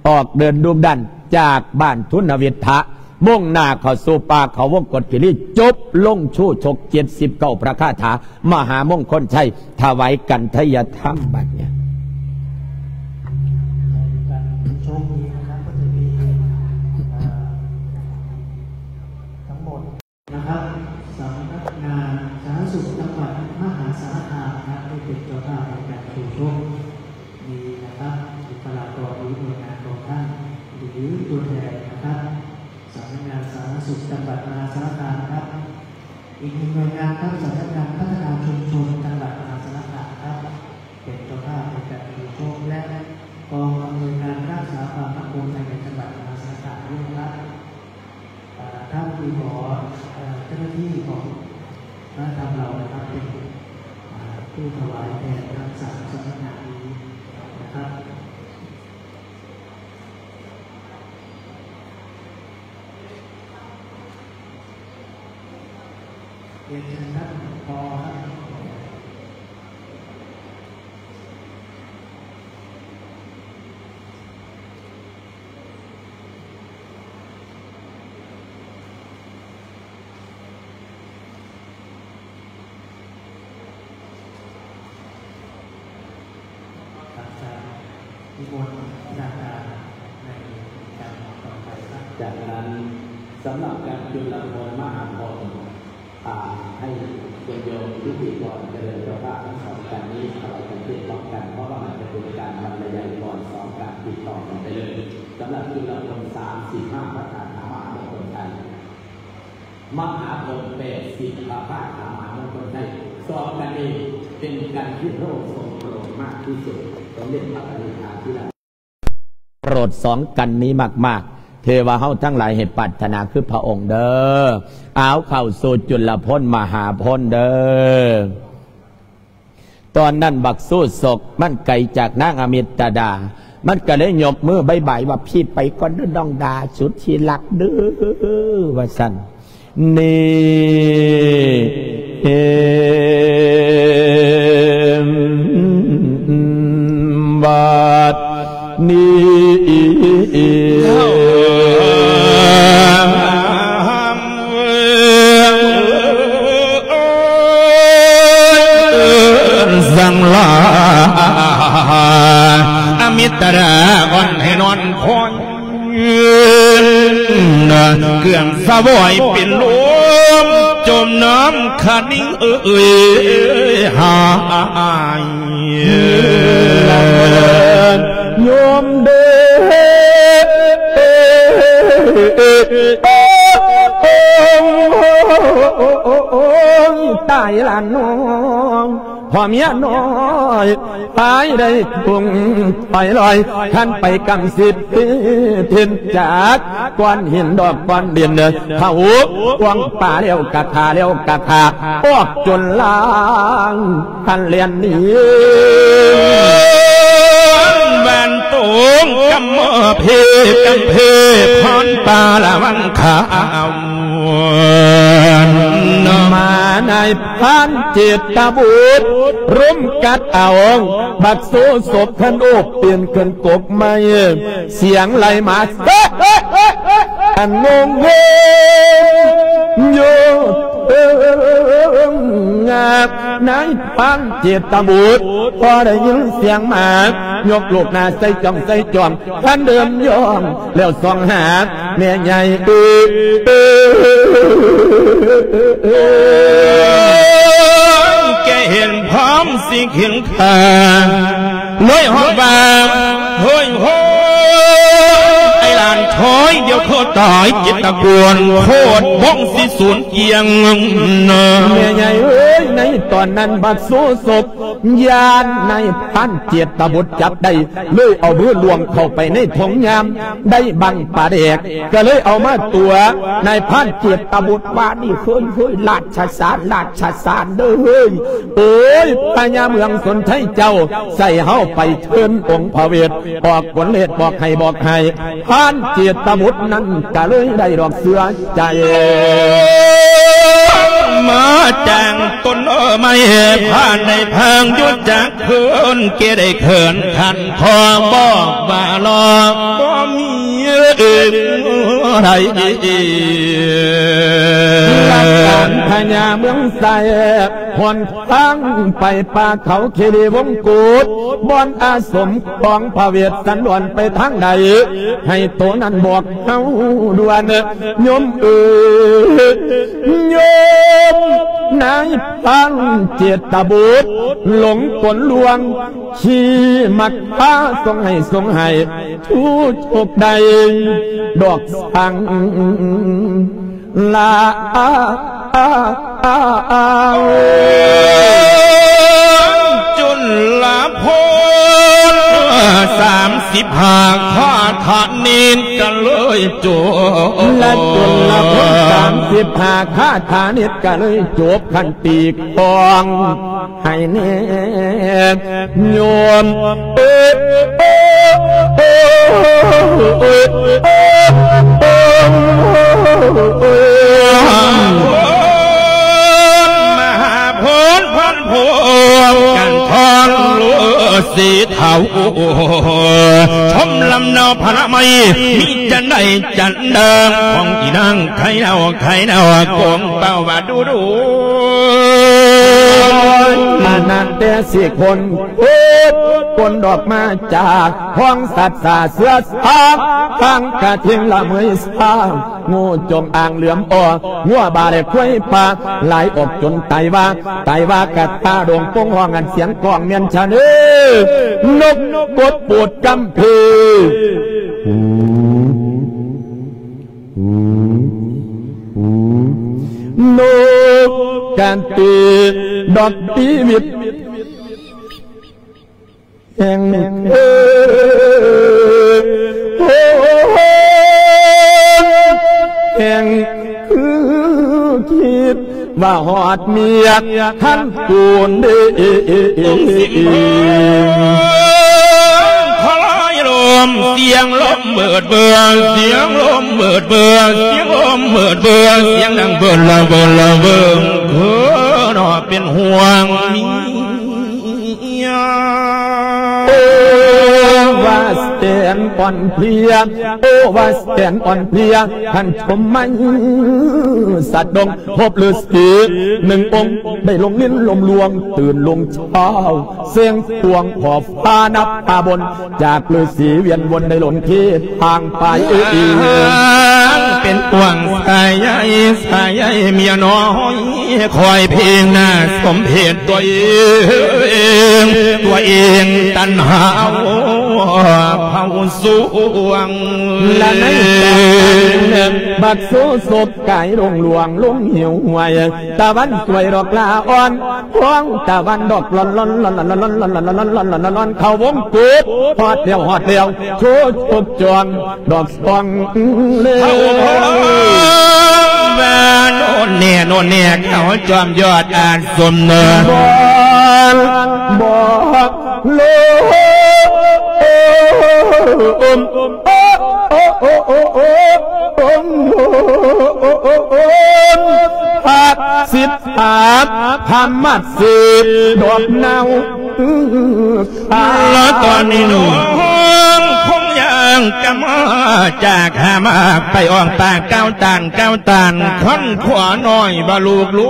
ອອກເດີນດຸກດັນຈາກບ້ານທຸນນະວິດທະ ມຸ່ງໜ້າເຂົ້າສູ່ປ່າເຂົາວົງກົດຄີລີ ຈົບລົງຊູຊົກເຈັດສິບເກົ້າພະຄາຖາມະຫາມົງຄົນໄຊ ຖວາຍກັນໄທຍະທຳບັດນີ້. ໂຊກດີນະຄັບ ກໍຈະມີ ເອີ ທັງໝົດ ນະຄັບ ສຳນັກງານສາທາລະນະສຸກຈັງຫວັດມະຫາສາລະຄາມນະຄັບ ໄດ້ເປັນເຈົ້າພາບໃນການສູ້ຊົກນີ້ນະຄັບ. ບຸກຄະລາກອນ ຫຼື ໜ່ວຍງານຂອງທ່ານ ຫຼື ຕົວແທນນະຄັບ ສຳນັກງານສາທາລະນະສຸກຈັງຫວັດມະຫາສາລະຄາມນະຄັບ. ອີກໜຶ່ງໜ່ວຍງານນະຄັບ ສຳນັກງານພັດທະນາຊຸມຊົນຈັງຫວັດມະຫາສາລະຄາມນະຄັບ ເປັນເຈົ້າພາບໃນການສູ້ຊົກ ແລະ ກອງອຳນວຍການຮັກສາຄວາມໝັ້ນຄົງພາຍໃນຈັງຫວັດມະຫາສາລະຄາມດ້ວຍນະຄັບ. ເອີ ທ່ານທີ່ຂໍ ເອີ ເຈົ້າໜ້າທີ່ຂອງມະຫາທຳເຮົານະຄັບ ເປັນ ເອີ ຜູ້ຖວາຍແທນທັງສາມສຳນັກງານນີ້ນະຄັບ. ຮຽນເຊີນທ່ານ ພໍ ຄັບ. ຈາກນັ້ນ ສຳລັບການຈຸລະພົນມະຫາພົນ ອ່າ ໃຫ້ໂຍມພິທີກອນຈະເລີນເຈົ້າພາບທັງສອງທ່ານນີ້ຖວາຍກັນເທດພ້ອມກັນ ເພາະວ່າມັນຈະເປັນການບັນລະຍາຍກ່ອນສອງການຕິດຕໍ່ກັນໄປເລີຍ. ສຳລັບຈຸລະພົນສາມສິບຫ້າ ພະຄາຖາມະຫາມົງຄົນໄຊ ມະຫາພົນແປດສິບ ພະຄາຖາມະຫາມົງຄົນໄຊ ສອງກັນນີ້ເປັນກັນທີ່ພະອົງຊົງໂປຣດມາກທີ່ສຸດ ສົມເດັດພະປະນິດຖາທິລາ ໂປຣດສອງກັນນີ້ມາກໆ ເທວະເຮົາທັງຫຼາຍໃຫ້ປາດຖະໜາຄືພະອົງເດີ້. ເອົາ ເຂົ້າສູ່ຈຸລະພົນມະຫາພົນເດີ້. ຕອນນັ້ນບັກຊູສົກມັນໄກຈາກນາງອະມິດຕະດາ ມັນກໍເລີຍຍົກມືບາຍບາຍວ່າ ພີ່ໄປກ່ອນເດີ້ນ້ອງດາສຸດທີ່ຮັກເດີ້ ວ່າຊັ້ນ. ນີ້ ເອີ ບາດນີ້ ສັງລາ ອະມິດຕະດາ ອ່ອນໃຫ້ນອນຄອຍ ເຄື່ອງສະຫວາຍເປັນລົມ ຈົມນ້ຳຄະນິງເອີຍຫາຍ ໂຍມເດີ ໂອ້ຍ ຕາຍລະນ້ອງ ພໍ່ເມຍນ້ອຍ ຕາຍໄດ້ກຸງໄປລອຍ ຄັນໄປກຳສິດເຫັນຈາກກ້ອນຫີນດອກກ້ອນດິນ ເຂົ້າກວາງປ່າແລ້ວກະຂ້າ ແລ້ວກະຂ້າ ອອກຈົນລາງ ພັນແລ່ນໜີ ບ້ານຕົງກຳເພ ກຳເພພອນປາລະວັງຄາວ ມານາຍ ທ່ານເຈດຕະບຸດ ລຸມກັດເອົາ ບັກໂຊສົບຄັນໂອບ ປີນຂຶ້ນກົກໄມ້ ສຽງໄລ່ມາ ອັນງົງໂງ່ຢູ່ເທິງງາບ ນາຍພານເຈດຕະບຸດ ພໍໄດ້ຍິນສຽງໝາ ຍົກລູກໜ້າໃສ່ຈ້ອງໃສ່ຈ້ອງ ຄັນເດີມຍ່ອງ ແລ້ວສ່ອງຫາແມ່ໃຫຍ່ເອີຍ ແກເຫັນພ້ອມຊິເຫັນຂ້າ ເລີຍຮ້ອງວ່າ ໂຫ້ຍໂຫ້ຍ ໄອ້ຫຼານຖອຍ ດຽວເຂົາຕາຍ ເຈດຕະກວນ ໂຄດບ້ອງຊິສູນກຽງ. ແມ່ໃຫຍ່ເອີຍ ໃນຕອນນັ້ນບັກໂຊສົບ ຢ້ານນາຍພານເຈດຕະບຸດຈັບໄດ້ ເລີຍເອົາມືລ່ວງເຂົ້າໄປໃນຖົງຍາມ ໄດ້ບັ້ງປາແດກ ກໍເລີຍເອົາມາຕົວະນາຍພານເຈດຕະບຸດວ່າ ນີ້ເຮີ້ຍເຮີ້ຍ ລາຊະສານ ລາຊະສານເດີ ໂອ້ຍ ພະຍາເມືອງສົນໄທເຈົ້າ ໃສ່ເຮົາໄປເຊີນອົງພະເວດ ບອກກົນເລດ ບອກໃຫ້ ບອກໃຫ້ ພານເຈດຕະບຸດນັ້ນກະເລີຍໄດ້ດອກເຊື່ອໃຈ ມາຈາງຕົ້ນໄມ້ ພານໄດ້ເພິ່ງຢູ່ຈັກຄືນ ແກໄດ້ເຂີນຂັນຂໍບອກວ່າລອ ບໍ່ມີເອີ່ນໃດ ລັກການພະຍາເມືອງໄຊ ຫົນ ທາງໄປປ່າເຂົາຄີຣີວົງກຸດ ບ່ອນອາສົມຂອງພະເວດສັນດອນໄປທາງໃດ ໃຫ້ໂຕນັ້ນບອກເຮົາດ່ວນ ໂຍມເອີຍ ໂຍມ ນາຍພານເຈດຕະບຸດ ຫຼົງກົນລວງ ຂີ້ມັກພາສົ່ງໃຫ້ ສົ່ງໃຫ້ ທຸກໂຊກໄດ້ ດອກສັງ ລາ ຈຸນລະພົນ ສາມສິບຫ້າ ຄາຖານິດກະເລີຍຈົບ ລະຈຸນລະພົນ ສາມສິບຫ້າ ຄາຖານິດກະເລີຍຈົບ ຄັນຕີກອງ ໃຫ້ແນ່ໂຍມເອີຍ ມະຫາໂພນພັນພວງ ກັນທອງລືສີເຖົ້າ ຊົມລຳເນາະພະລະໄມ ມີຈັນໃດຈັນດາ ຂອງອີນາງໄຄເນົາ ໄຄເນົາ ກົງເປົ້າວ່າດູດູ ອັນນັ້ນແຕ່ຊິຄົນ ໂອ້ ຄົນດອກມາຈາກຫ້ອງສັດສາເສືອສາງ ທາງກະທິງລະເມີຍສາງ ງູຈົງອາງເຫຼືອມອໍ ງົວບາແລະຄວາຍປ່າ ຫຼາຍອອກຈົນຕາຍວ່າ ຕາຍວ່າກະຕາດົງປົງຮ້ອງ ອັນສຽງກ້ອງແມ່ນຊະເນີ ນົກກົດປູດກຳພີ ນົກກະຕີດອກປີວິດ ແຫ່ງເອີ ໂອ້ ແຫ່ງຄືຄິດວ່າຮອດເມຍຄັນກູນເດ ຄະລາຍລົມ ສຽງລົມເບີດເບີ ສຽງລົມເບີດເບີ ສຽງລົມເບີດເບີ ສຽງດັງເບີລະເບີລະເບີ ເອີ ເນາະ ເປັນຫ່ວງເມຍ ໂອ້ ວ່າແສນອ່ອນເພຍ ໂອ້ ວ່າແສນອ່ອນເພຍ ທ່ານຊົມໄມສັດດົງ ພົບລືສີໜຶ່ງອົງ ໄດ້ລົງລິນລົມລວງ ຕື່ນລົງເຊົ້າ ເສັງພວງຂອບຟ້ານັບຕາບົນ ຈາກລືສີວຽນວົນ ໄດ້ຫຼົນເຂດທາງໄປ ເປັນພວງສາຍໃຍ ສາຍໃຍເມຍນ້ອຍ ຄອຍເພງໜ້າສົມເພດ ຕົວເອງ ຕົວເອງຕັນຫາເຜົາສວງ ລະໃນຕອນນັ້ນ ບັກໂຊສົບກາຍລົງຫຼວງ ລົງຫິວຫວຍ ຕາວັນສວຍດອກລາອ່ອນ ພວງຕາວັນດອກລອນ ເຂົ້າວົງກົດ ຮອດແລ້ວ ຮອດແລ້ວ ໂຊຈົບຈອງ ດອກສອງເລີຍ ວ່າໂນ່ນແນ່ ໂນ່ນແນ່ ເຂົາຈອມຍອດອາສົມເນີ ບອກ ບອກໂລມ ພັກສິດ ອາບພາມາດສິດ ດອກເນົາ ລະຕອນນີ້ນ້ອງຄົງຍ່າງກ ມາຈາກຫາມາກໄປອອກປາກກ່າວຕ່າງກ່າວຕ່າງ ຄັນຂົວນ້ອຍບໍ່ລູກລູ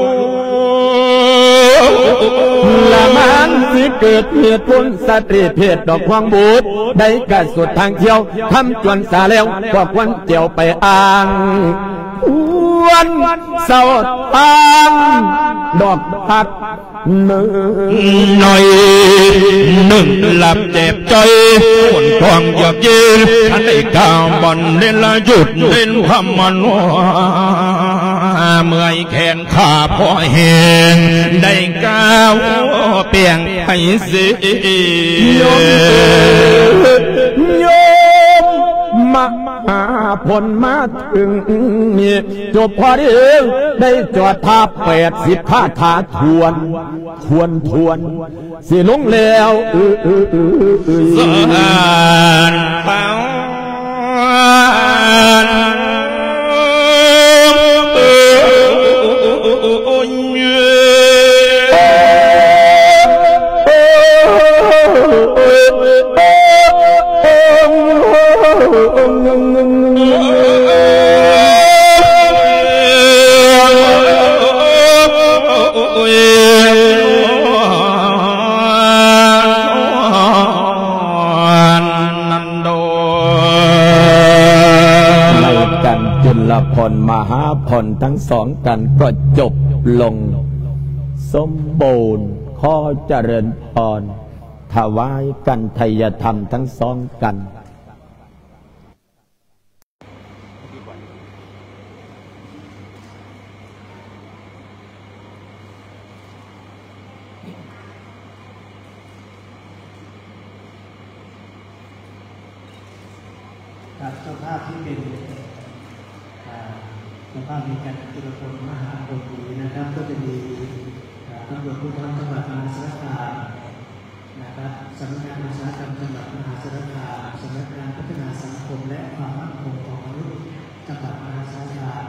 ກ ລະມັນຊິເກີດເຫດຜົນ ສະຕຣີເພດດອກຂວາງບຸດ ໄດ້ກະສຸດທາງທ່ຽວ ຄຳຈວນສາແລ້ວ ກໍຄວນຈຽວໄປອ່າງ ຄວນເຊົາທາງດອກຮັກ ໜ້ອຍໜຶ່ງລັບເຈັບໃຈ ຄົນຄວາມຢາກເຢັນ ທັນໄດ້ກ້າວບ່ອນເລນລະຢຸດເລນຄຳມະໂນ ເມື່ອຍແຂນຂາພໍແຮງ ໄດ້ກ້າວປ່ຽງໄປເສຍ ໂຍມ ໂຍມມະຫາພົນມາເຖິງນີ້ ຈົບພໍດີ ໄດ້ຈອດທ່າແປດສິບຄາຖາຖ້ວນ ຖ້ວນ ຖ້ວນ ຊິລົງແລ້ວ ເອີ ເອີ ເອີ ເອີ ເອີ ສານເປົ່າ ໃນການຈຸລະພອນມະຫາພອນທັງສອງກັນກໍຈົບລົງສົມບູນ. ຂໍຈະເລີນພອນ. ຖວາຍກັນໄທຍະທຳທັງສອງກັນ. ครับ เจ้าภาพที่เป็น อ่า เจ้าภาพในการจุลพลมหาพลนี้นะครับ ก็จะมี อ่า ตำรวจภูธรจังหวัดมหาสารคาม นะครับ สำนักงานอุตสาหกรรมจังหวัดมหาสารคาม สำนักงานพัฒนาสังคมและความมั่นคงของมนุษย์จังหวัดมหาสารคาม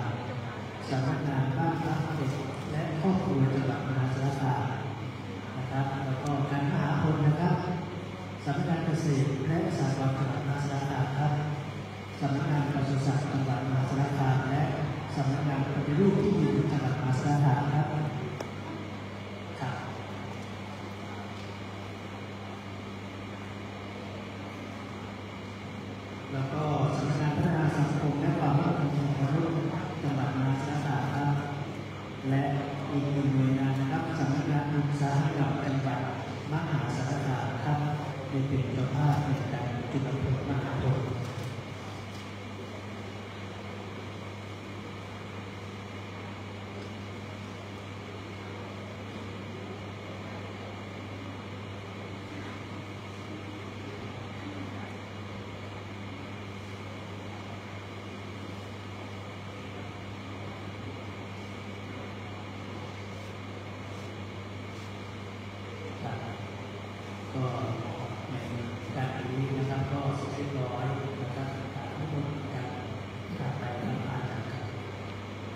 สำนักงานบ้านพักเด็กและครอบครัวจังหวัดมหาสารคามนะครับ แล้วก็การมหาพลนะครับ สำนักงานเกษตรและสหกรณ์จังหวัดมหาสารคามครับ สำนักงานปศุสัตว์จังหวัดมหาสารคาม และสำนักงานปฏิรูปที่ดินจังหวัดมหาสารคามครับ ครับ แล้วก็สำนักงานพัฒนาสังคมและความมั่นคงของมนุษย์จังหวัดมหาสารคามครับ และอีกหนึ่งหน่วยงานนะครับ สำนักงานอุตสาหกรรมจังหวัดมหาสารคามครับ ได้เป็นเจ้าภาพในการจุดประพลมหาพล ครับ ก็ในการนี้นะครับ ก็เสร็จเรียบร้อยนะครับ อ่า ทั้งหมดการกราบไหว้พระอาจารย์ครับ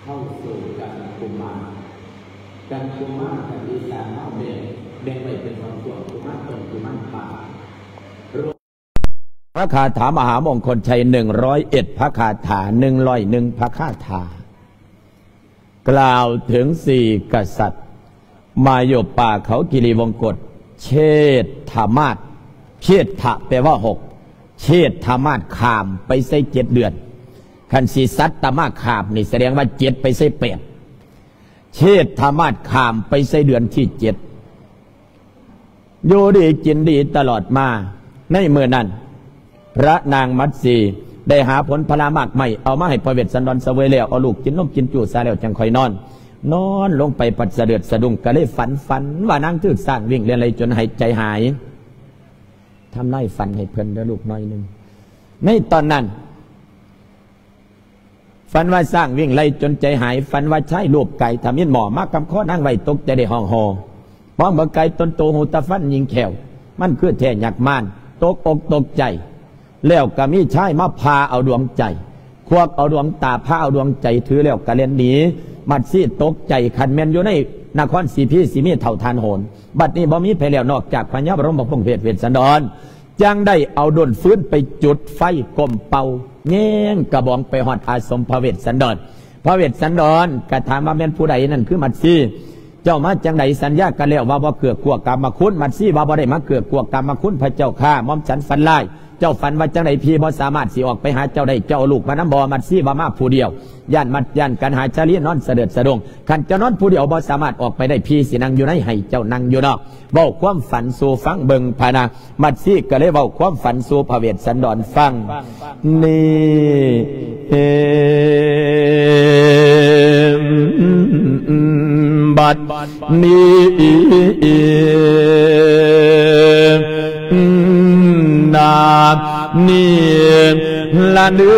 ເຂົ້າສູ່ກັນກຸມານ ກັນກຸມານ ກັນທີ່ສ້າງມາແບ່ງ ແບ່ງໄວ້ເປັນສ່ວນໆ ກຸມານຕົ້ນ ກຸມານປາຍ ພະຄາຖາມະຫາມົງຄົນໄຊ ໜຶ່ງຮ້ອຍເອັດ ພະຄາຖາ ໜຶ່ງຮ້ອຍໜຶ່ງ ພະຄາຖາ ກ່າວເຖິງສີ່ກະສັດ ມາຢູ່ປ່າເຂົາກິລິວົງກົດ ເຊດຖະມາດ ເຊດຖະແປວ່າຫົກ ເຊດຖະມາດຂ້າມໄປໃສ່ເຈັດເດືອນ ຄັນຊິສັດຕະມາດຂ້າມນີ້ ສະແດງວ່າເຈັດໄປໃສ່ແປດ ເຊດຖະມາດຂ້າມໄປໃສ່ເດືອນທີເຈັດ ຢູ່ດີກິນດີຕະຫຼອດມາ. ໃນມື້ນັ້ນ ພະນາງມັດສີໄດ້ຫາຜົນຜະລະໝາກໄມ້ ເອົາມາໃຫ້ພະເວດສັນດອນສະເຫວີຍແລ້ວ ເອົາລູກກິນນົມກິນຈູ່ຊາແລ້ວ ຈັ່ງຄ່ອຍນອນ. ນອນລົງໄປພັດສະເດີດສະດຸ້ງ ກະເລີຍຝັນ ຝັນວ່ານາງຖືກຊ້າງວິ່ງແລ່ນໄລ່ຈົນຫາຍໃຈຫາຍ. ທຳລາຍຝັນໃຫ້ເພິ່ນເດີລູກໜ້ອຍໜຶ່ງ. ໃນຕອນນັ້ນ ຝັນວ່າຊ້າງວິ່ງໄລ່ຈົນໃຈຫາຍ, ຝັນວ່າຊາຍລູບກາຍທຳອິນໝໍ້ມາກຳຄໍນາງໄວ້ ຕົກໃຈໄດ້ຮ້ອງໂຮ. ມອງເບິ່ງກາຍຕົນໂຕຮູຕາຟັນຍິງແຂ້ວ, ມັນຄືແທ້ຍັກມານ, ຕົກອົກຕົກໃຈ. ແລ້ວກໍມີຊາຍມາຜ່າເອົາດວງໃຈ, ຄວັກເອົາດວງຕາ, ຜ່າເອົາດວງໃຈ, ຖືແລ້ວກໍແລ່ນໜີ. ມັດສີຕົກໃຈ, ຄັນແມ່ນຢູ່ໃນນະຄອນສີພີ ຊິມີເທົ່າທ່ານໂຫນ. ບັດນີ້ບໍ່ມີໃຜແລ້ວ ນອກຈາກພະຍາບລົມພະພົງເພດເວດສັນດອນ. ຈັ່ງໄດ້ເອົາດົນຟືນໄປຈຸດໄຟກົ້ມເປົ່າ ແຍງກະບອງໄປຮອດອາສົມພະເວດສັນດອນ. ພະເວດສັນດອນກະຖາມວ່າ ແມ່ນຜູ້ໃດນັ້ນຄືມັດສີ? ເຈົ້າມາຈັ່ງໃດ? ສັນຍາກັນແລ້ວວ່າບໍ່ເກືອກາມະຄຸນ. ມັດສີວ່າ ບໍ່ໄດ້ມາເກືອກາມະຄຸນພະເຈົ້າຂ້າ ໝ່ອມສັນຝັນຮ້າຍ. ເຈົ້າຝັນວ່າຈັ່ງໃດ? ຜີບໍ່ສາມາດຊິອອກໄປຫາເຈົ້າໄດ້ ເຈົ້າເອົາລູກມານຳບໍ່? ມັດສີວ່າ ມາຜູ້ດຽວ ຢ້ານມັດຢ້ານກັນຫາຊາລີນອນສະເດີດສະດົງ. ຄັນເຈົ້ານອນຜູ້ດຽວບໍ່ສາມາດອອກໄປໄດ້ ຜີຊິນັ່ງຢູ່ໃນ ໃຫ້ເຈົ້ານັ່ງຢູ່ນອກ. ເວົ້າຄວາມຝັນສູ່ຟັງເບິ່ງພະນະ. ມັດສີກະເລີຍເວົ້າຄວາມຝັນສູ່ພະເວດສັນດອນຟັງ. ນີ້ ບັດນີ້ນາ ນີ້ລະເດີ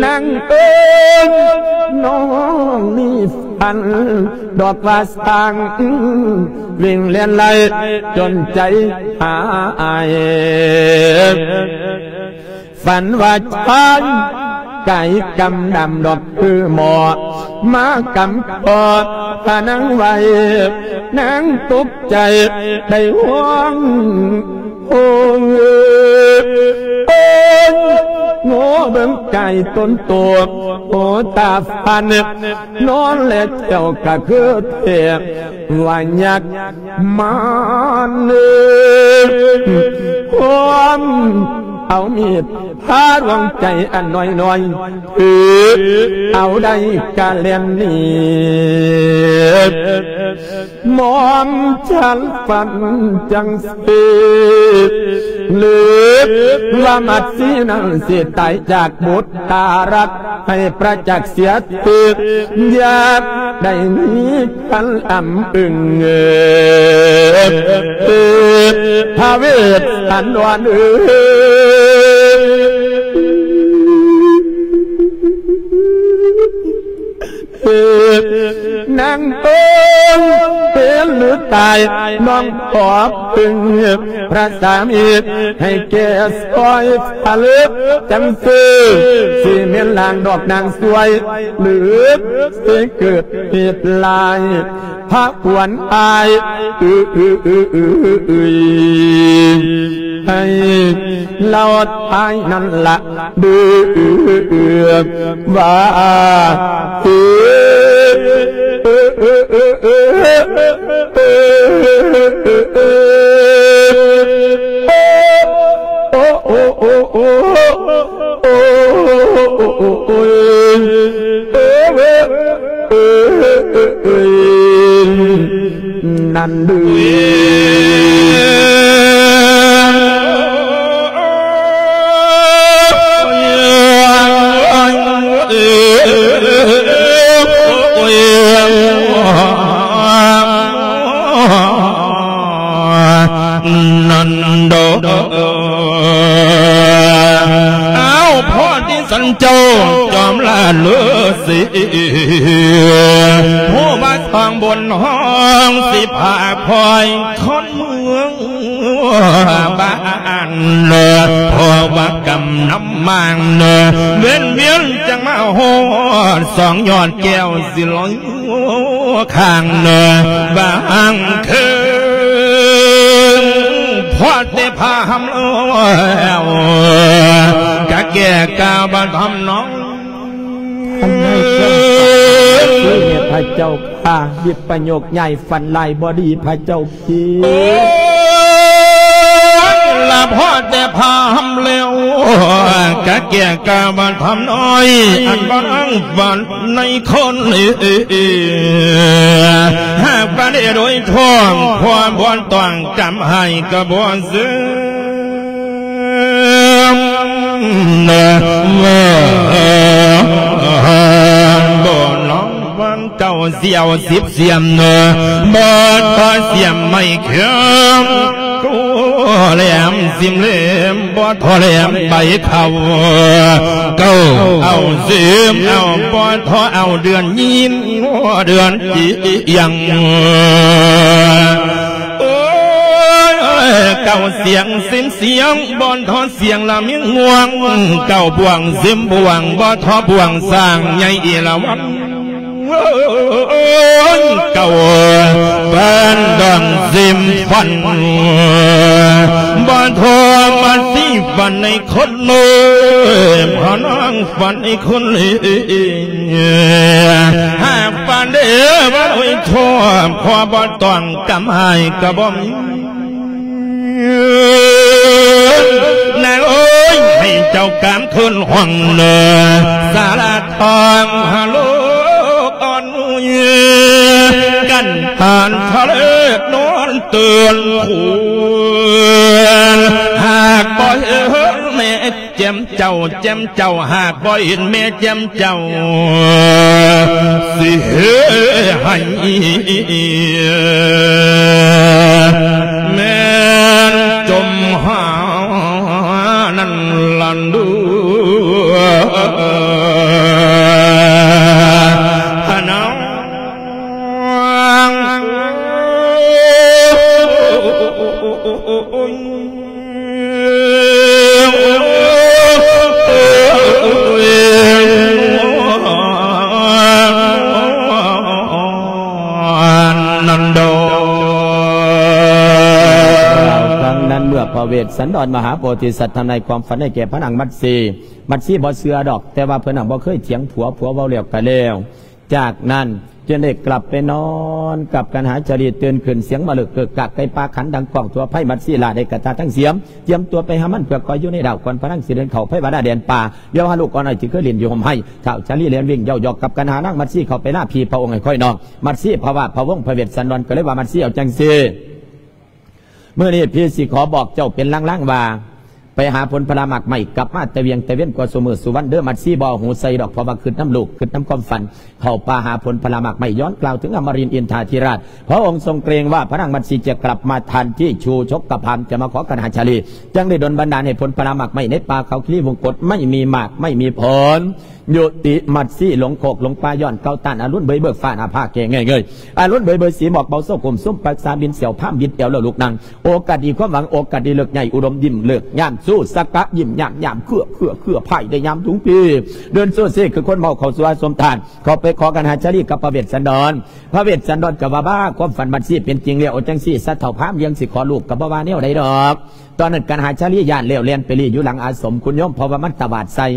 ນາງເອີຍ ນ້ອງມີຝັນດອກວ່າຊ່າງ ວິ່ງແລ່ນໄລ່ຈົນໃຈຫາຍ. ຝັນວ່າຊາຍກາຍກຳດຳດອກຄືໝໍ ມາກຳຄອພະນັງໄວ້ ນາງຕົກໃຈໄດ້ຮ້ອງ ໂອ້ຍ ໂອ້ຍ ໂງ່ເບິ່ງກາຍຕົນໂຕ ໂອ້ຕາຝັນ ນອນແລະເຈົ້າກະຄືເທບ ວ່າຍັກມານເອີ ຄວາມເອົາມີດພາດວງໃຈອັນນ້ອຍໆ ຖືເອົາໄດ້ກະແລ່ນໜີ. ໝອມສັນຝັນຈັ່ງຊີ້ ຫຼືວ່າມັດສີນັ້ນຊິຕາຍຈາກບຸດຕາລັກ ໃຫ້ປະຈັກເສຍ ຄືຢາກໄດ້ມີຄັນອຳອຶງ ເອີ ພະເວດສັນດອນເອີຍ ນາງເອີຍ ເປັນຫຼືຕາຍ ນ້ອງຂໍເພິ່ງພະສາມີ ໃຫ້ແກ່ຊ່ອຍ ຖ້າເລີກຈັ່ງຊື່ ຊິແມ່ນລາງດອກນາງຊ່ວຍ ຫຼືຊິເກີດເຫດລາຍ ພະຄວນອາຍ ອື ອື ອື ອື ອື ໃຫ້ລາວຕາຍນັ້ນລະ ດື ອື ອື ວ່າ ອື ອື ໂອ້ ໂອ້ ໂອ້ ໂອ້ ໂອ້ ໂອ້ ໂອ້ ໂອ້ ໂອ້ ໂອ້ ໂອ້ ເອີຍ ເອີຍ ເອີຍ ເອີຍ ນັ້ນເດີ. ນັ້ນດອກ ອ້າວ ພໍທີ່ສັນເຈົ້າຈອມລາດເລີສີ ຜູ້ວ່າທາງບົນຫ້ອງ ຊິພາພອຍຄົນເມືອງບ້ານເລີ ເພາະວ່າກຳນຳມາງເລີ ເວນວຽນຈັ່ງມາຮອດ ສອງຍອດແກ້ວຊິລອຍ ຂ້າງເນີບາງຄືນ ພອດແຕ່ພາຫຳແລ້ວ ກະແກ່ກາວບາດທຳນອງ ອັນໃຫ້ເຈົ້າພະເຈົ້າຂ້າ ວິປະໂຍກຍ້າຍຝັນລາຍບໍ່ດີພະເຈົ້າ ໂອ້ຍ ລະພໍແຕ່ພາຫຳແລ້ວ ກະແກ່ກາວານຄຳນ້ອຍ ອັນບໍ່ນັ່ງຝັນໃນຄົນ ຫາກວ່າໄດ້ໂດຍທ້ອງ ຄວາມບໍ່ຕ້ອງຈຳໃຫ້ກະບໍ່ເຊື່ອ ບໍ່ນ້ອງວັນ ເຈົ້າສຽວສິບສຽມເນີ ບໍ່ພໍສຽມໄມ້ເຂືອງ ກູແຫຼມສິມເຫຼັມ ບໍ່ທໍແຫຼມໃບເຂົ້າ ເຈົ້າເອົາສິມເອົາ ບໍ່ທໍເອົາເດືອນຍິນ ເດືອນຈິຍັງ ໂອ້ຍ ເກົ້າສຽງສິມສຽງ ບໍ່ທໍສຽງລະມີງວງ ເກົ້າບ່ວງສິມບ່ວງ ບໍ່ທໍບ່ວງ ສ້າງໃຫຍ່ເອລາວັນ ເກົ້າເປັນດອງສິມຝັນ ບໍ່ທໍມາສິຝັນໃນຄົນເອີ ພະນາງຝັນໃນຄົນເອີ ຫາກຝັນເດີວ່າໂອ້ຍ ໂທ ຂໍບໍ່ຕ້ອງກຳໃຫ້ກໍບໍ່ມີ ນາງເອີຍ ໃຫ້ເຈົ້າການຄືນຫ້ອງເນີ ສາລາທອງຫາລູກອ່ອນ ກັນທານທະເລນອນຕື່ນຄູນ ຫາກບໍ່ເຫັນແມ່ ແຈ່ມເຈົ້າ ແຈ່ມເຈົ້າ ຫາກບໍ່ເຫັນແມ່ແຈ່ມເຈົ້າ ຊິເຮັດໃຫ້ແມ່ນຈົມຫານັ້ນລະດູ ພະນາງ ຄັ້ງນັ້ນເມື່ອພະເວດສັນດອນມະຫາໂພທິສັດທຳນາຍຄວາມຝັນໃຫ້ແກ່ພະນາງມັດສີ ມັດສີບໍ່ເຊື່ອດອກ ແຕ່ວ່າເພິ່ນຫັ້ນບໍ່ເຄີຍຖຽງຜົວ ຜົວເວົ້າແລ້ວກໍແລ້ວ. ຈາກນັ້ນຈຶ່ງໄດ້ກັບໄປນອນກັບກັນຫາຈາລີ ຕື່ນຂຶ້ນສຽງມາເລິກເກີກກາກໄກ່ປ່າຂັນດັງກ້ອງທົ່ວໄພ ມັດສີລາໄດ້ກະຕາທັງສຽມ ກຽມຕົວໄປຫາມັນເພື່ອຄອຍຢູ່ໃນດາວກ່ອນພະນາງຊິເດີນເຂົ້າໄພວາລາແດນປ່າ ດຽວຫາລູກອ່ອນອ້ອຍທີ່ເຄີຍຫຼິ້ນຢູ່ຮົ່ມໄຮ ທ້າວຈາລີແລ່ນວິ່ງເຍົາະໆກັບກັນຫານາງມັດສີເຂົ້າໄປລາພີ່ພະອົງໃຫ້ຄອຍນອກ ມັດສີພະວ່າພະວົງພະເວດສັນດອນກໍເລີຍວ່າ ມັດສີເອົາຈັ່ງຊີ້ ມື້ນີ້ພີ່ຊິຂໍບອກເຈົ້າເປັນລາງໆວ່າ ໄປຫາຜົນຜະລະໝາກໄມ້ ກັບມາແຕ່ວຽງແຕ່ເວັນກວ່າຊຸມື້ຊຸວັນເດີ ມັດສີບໍ່ເອົາຫູໃສ່ດອກ ເພາະວ່າຄິດນຳລູກ ຄິດນຳຄວາມຝັນ ເຂົ້າປ່າຫາຜົນຜະລະໝາກໄມ້ ຍ້ອນກ່າວເຖິງອະມະລິນອິນທາທິລາດ ພະອົງຊົງເກຣົງວ່າພະນາງມັດສີຈະກັບມາທັນທີ ຊູຊົກກະພາມຈະມາຂໍກັນຫາຈາລີ ຈຶ່ງໄດ້ດົນບັນດານໃຫ້ຜົນຜະລະໝາກໄມ້ໃນປ່າເຂົາຄີວົງກົດ ໄມ້ມີໝາກ ໄມ້ມີຜົນ ຍຸຕິມັດສີຫຼົງໂຄກຫຼົງປ່າ ຍ້ອນເກົາຕ້ານອາລຸນເບີຍເບີກຟ້າໜ້າຜາແກ່ເງີຍເງີຍ ອາລຸນເບີຍເບີຍສີໝອກເບົາໂຊກຸມຊຸມປັກສາບິນສຽວພາມບິດແອວແລ້ວລຸກນັ່ງ ໂອກາດດີຄວາມຫວັງ ໂອກາດດີເລີກໃຫຍ່ ອຸດົມຍິ້ມເລີກຍາມຊູ ສັກກະຍິ້ມຍາມຍາມເຄືອເຄືອເຄືອ ພາຍໄດ້ຍາມທຸງປີ ເດີນໂຊເຊຄືຄົນເມົາເຂົ້າສູ່ອາສົມທານ ເຂົ້າໄປຂໍກັນຫາຈາລີກັບພະເວດສັນດອນ ພະເວດສັນດອນກໍວ່າ ບ້າ ຄວາມຝັນມັດສີເປັນຈິງແລ້ວ ເອົາຈັ່ງຊີ້ຊະ ທ້າວພາມ ລຽງຊິຂໍລູກກໍບໍ່ວ່າແນວໃດດອກ ຕອນນັ້ນກັນຫາຈາລີຢ້ານແລ້ວ ແລ່ນໄປລີ້ຢູ່ຫຼັງອາສົມຄຸນໂຍມ ເພາະວ່າມັນຕະຫວາດໃສ່